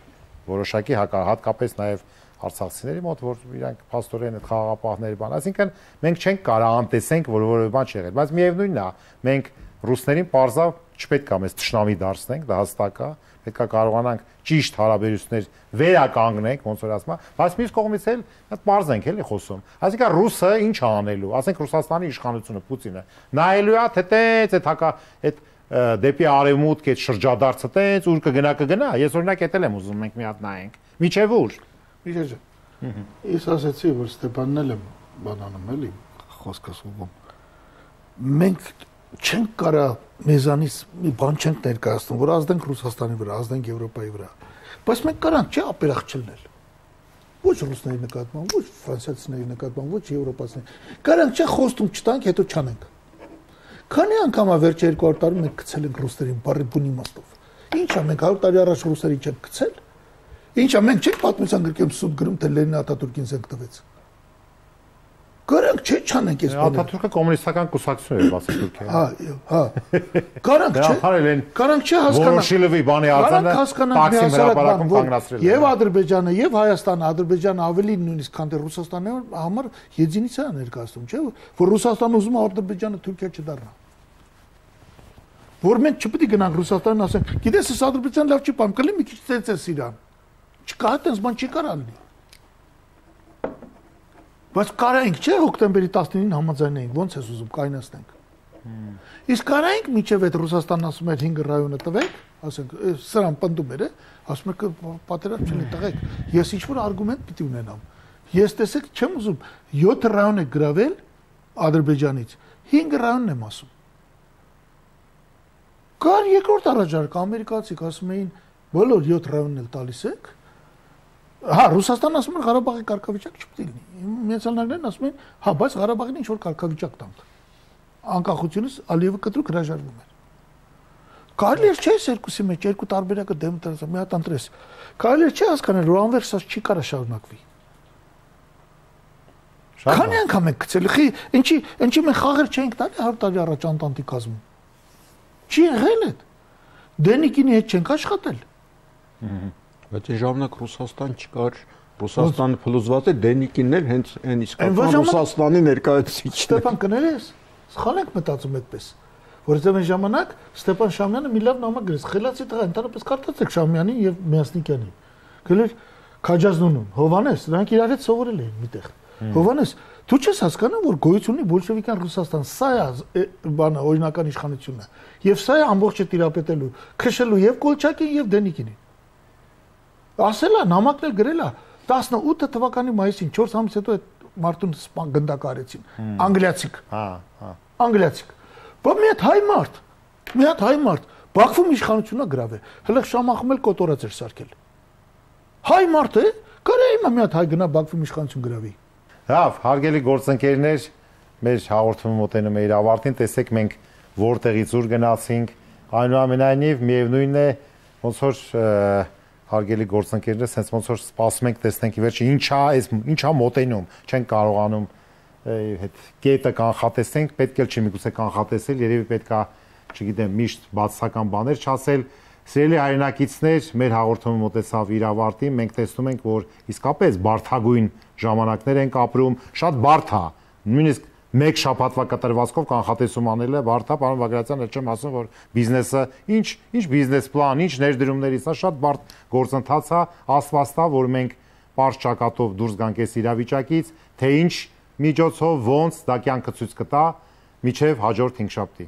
Որոշակի հատկապես նաեւ արցախցիների մոտ, որ իրանք փաստորեն այդ խաղաղապահների բան, այսինքն մենք չենք կարող անտեսենք, որ որևէ բան չի եղել, բայց միևնույնն է, մենք ռուսներին պարզավ չպետք է մեզ ճշնամի դարձնենք, դա հստակ է, պետք է կարողանանք ճիշտ հարաբերություններ վերականգնենք, ոնց որ ասում եմ, բայց մյուս կողմից էլ այդ պարզ ենք էլի խոսում։ Այսինքն ռուսը ինչ է անելու, ասենք Ռուսաստանի իշխանությունը Պուտինը նայելու է թե տենց այդ դեպի արևմուտք այդ շրջադարձը տենց ուր կգնա, ես օրինակ էտել եմ ուզում մենք մի հատ նայենք։ Միջև ուր։ Ես ասացի, որ Ստեփանն էլ բանանում էլի խոսքս ուղում։ Մենք չենք կարա մեզանից մի բան չենք ներկայացնում, որ ազդենք Ռուսաստանի վրա, ազդենք Եվրոպայի վրա։ Բայց մենք կարանք չէ ապերախ չլնել։ Ոչ ռուսների նկատմամբ, ոչ ֆրանսիացիների նկատմամբ, ոչ եվրոպացիների։ Կարանք չէ խոստում չտանք, հետո չանենք։ Քանի անգամ վերջ 200 տարում մենք գցել ենք ռուսներին բարի բուն իմաստով։ Ինչա մենք 100 տարի առաջ ռուսերին չենք գցել։ Ինչա մենք չենք պատմության գրքերում սուտ գրում, թե Լենինը Աթաթուրքին զենք տվեց։ Կարանք չէ չանենք այս բանը։ Աթաթուրքը կոմունիստական կուսակցություն էր, բացի Թուրքիայի։ Հա։ Կարանք չէ։ Կարանք չէ հասկանալ։ Վորոշիլովի բանի արձանը Տաքսիմ հրապարակում կանգնացրել։ Եվ Ադրբեջանը, եւ Հայաստանը, Ադրբեջանը ավելի նույնիսկ քան թե Ռուսաստանը համար եզինիցիա ներկայացնում, չէ՞, որ Ռուսաստանը ուզում է Ադրբեջանը Թուրքիա չդառնա։ Որ մենք չպետք է գնանք Ռուսաստանին ասենք, գիտես, այս Ադրբեջան լավ չի բան, կլի մի քիչ ծեծես իրան։ Չկա այդպես բան չի կարա լինի։ Բայց կարայինք չէ հոկտեմբերի 19-ին համաձայնեինք, ո՞նց ես ուզում կայնացնենք։ Իսկ կարայինք միջև այդ Ռուսաստանն ասում էր 5 ռայոնը տվեք, ասենք, սրան պնդում էր, ասում էր պատերազմ չլինի տղեկ, ես ինչ-որ արգումենտ պիտի ունենամ։ Ես տեսեք չեմ ուզում 7 ռայոն է գրավել Ադրբեջանից, 5 ռայոնն եմ ասում։ Կար երկրորդ առաջարկ ամերիկացիք ասում էին բոլոր 7 ռայոնն էլ տալիս եք։ Հա, Ռուսաստանն ասում է Ղարաբաղի կարգավիճակ չպետք է լինի։ Միացյալ Նահանգներն ասում են, հա, բայց Ղարաբաղին ինչ որ կարգավիճակ տանք։ Անկախությունից Ալիևը կտրուկ հրաժարվում էր։ Կարելի է չէ երկուսի մեջ երկու տարբերակը դեմ դրած, մի հատ ընտրես։ Կարելի է չէ հասկանալ, որ անվերջ չի կարա շարունակվի։ Քանի անգամ եք գցել, խի, ինչի մենք խաղեր չենք տալի 100 տարի առաջ Անտանտի կազմում։ Չի եղել է։ Դենիկինի հետ չենք աշխատել։ Բայց այն ժամանակ Ռուսաստան չկար, Ռուսաստանը փլուզված է, Դենիկինն էլ հենց այն իսկական Ռուսաստանի ներկայացուցիչն է։ Ստեփան կներես, սխալ եք մտածում այդպես, որովհետև այն ժամանակ Ստեփան Շամյանը մի լավ նամակ գրեց, խելացի տղա, ընդհանրապես կարդացեք Շամյանին եւ Միասնիկյանին։ Գրել Քաջազնունուն, Հովանես, նրանք իրար հետ սովորել էին միտեղ։ Հովանես, դու չես հասկանում, որ գոյություն ունի բոլշևիկյան Ռուսաստան, սա է բանը օրինական իշխանությունը, եւ սա է ամբողջը տիրապետելու, քշելու եւ Կոլչակին եւ Դենիկինին։ Ասելա, նամակն էլ գրելա 18 թվականի մայիսին 4 ամիս հետո այդ մարդուն գնդակարեցին, անգլիացիք։ Հա։ Անգլիացիք։ Բայց մի հատ հայ մարդ, Բաքվում իշխանությունն է գրավել, հələ Շամախում էլ կոտորած էր սարքել։ Հայ մարդ է, կարա հիմա մի հատ հայ գնա Բաքվում իշխանություն գրավի։ Լավ, հարգելի գործընկերներ, մեր հաղորդումը մոտենում է իր ավարտին, տեսեք մենք որտեղից ուր գնացինք, այնուամենայնիվ միևնույնն է, ոնց որ հարգելի գործընկերներ, sense ոնց որ սպասում ենք տեսնենք ի վերջո ինչա մոտենում, չեն կարողանում այդ կետը կանխատեսենք, պետք է չի միգուցե կանխատեսել, երևի պետքա, չգիտեմ, միշտ բացասական բաներ չասել։ Սիրելի հայրենակիցներ, մեր հաղորդումը մոտեցավ իր ավարտին, մենք տեսնում ենք, որ իսկապես բարդագույն ժամանակներ ենք ապրում, շատ բարդ է, նույնիսկ մեկ շաբաթվա կտրվածքով կանխատեսում անելը բարդ է, պարոն Բագրատյան, չեմ ասում, որ բիզնեսը ինչ բիզնես պլան, ինչ ներդրումներից, սա շատ բարդ գործընթաց է, աստվածտա, որ մենք պարզ ճակատով դուրս գանք այս իրավիճակից, թե ինչ միջոցով ոնց դա կյանքը ցույց կտա, միջև հաջորդ 5 շաբթի։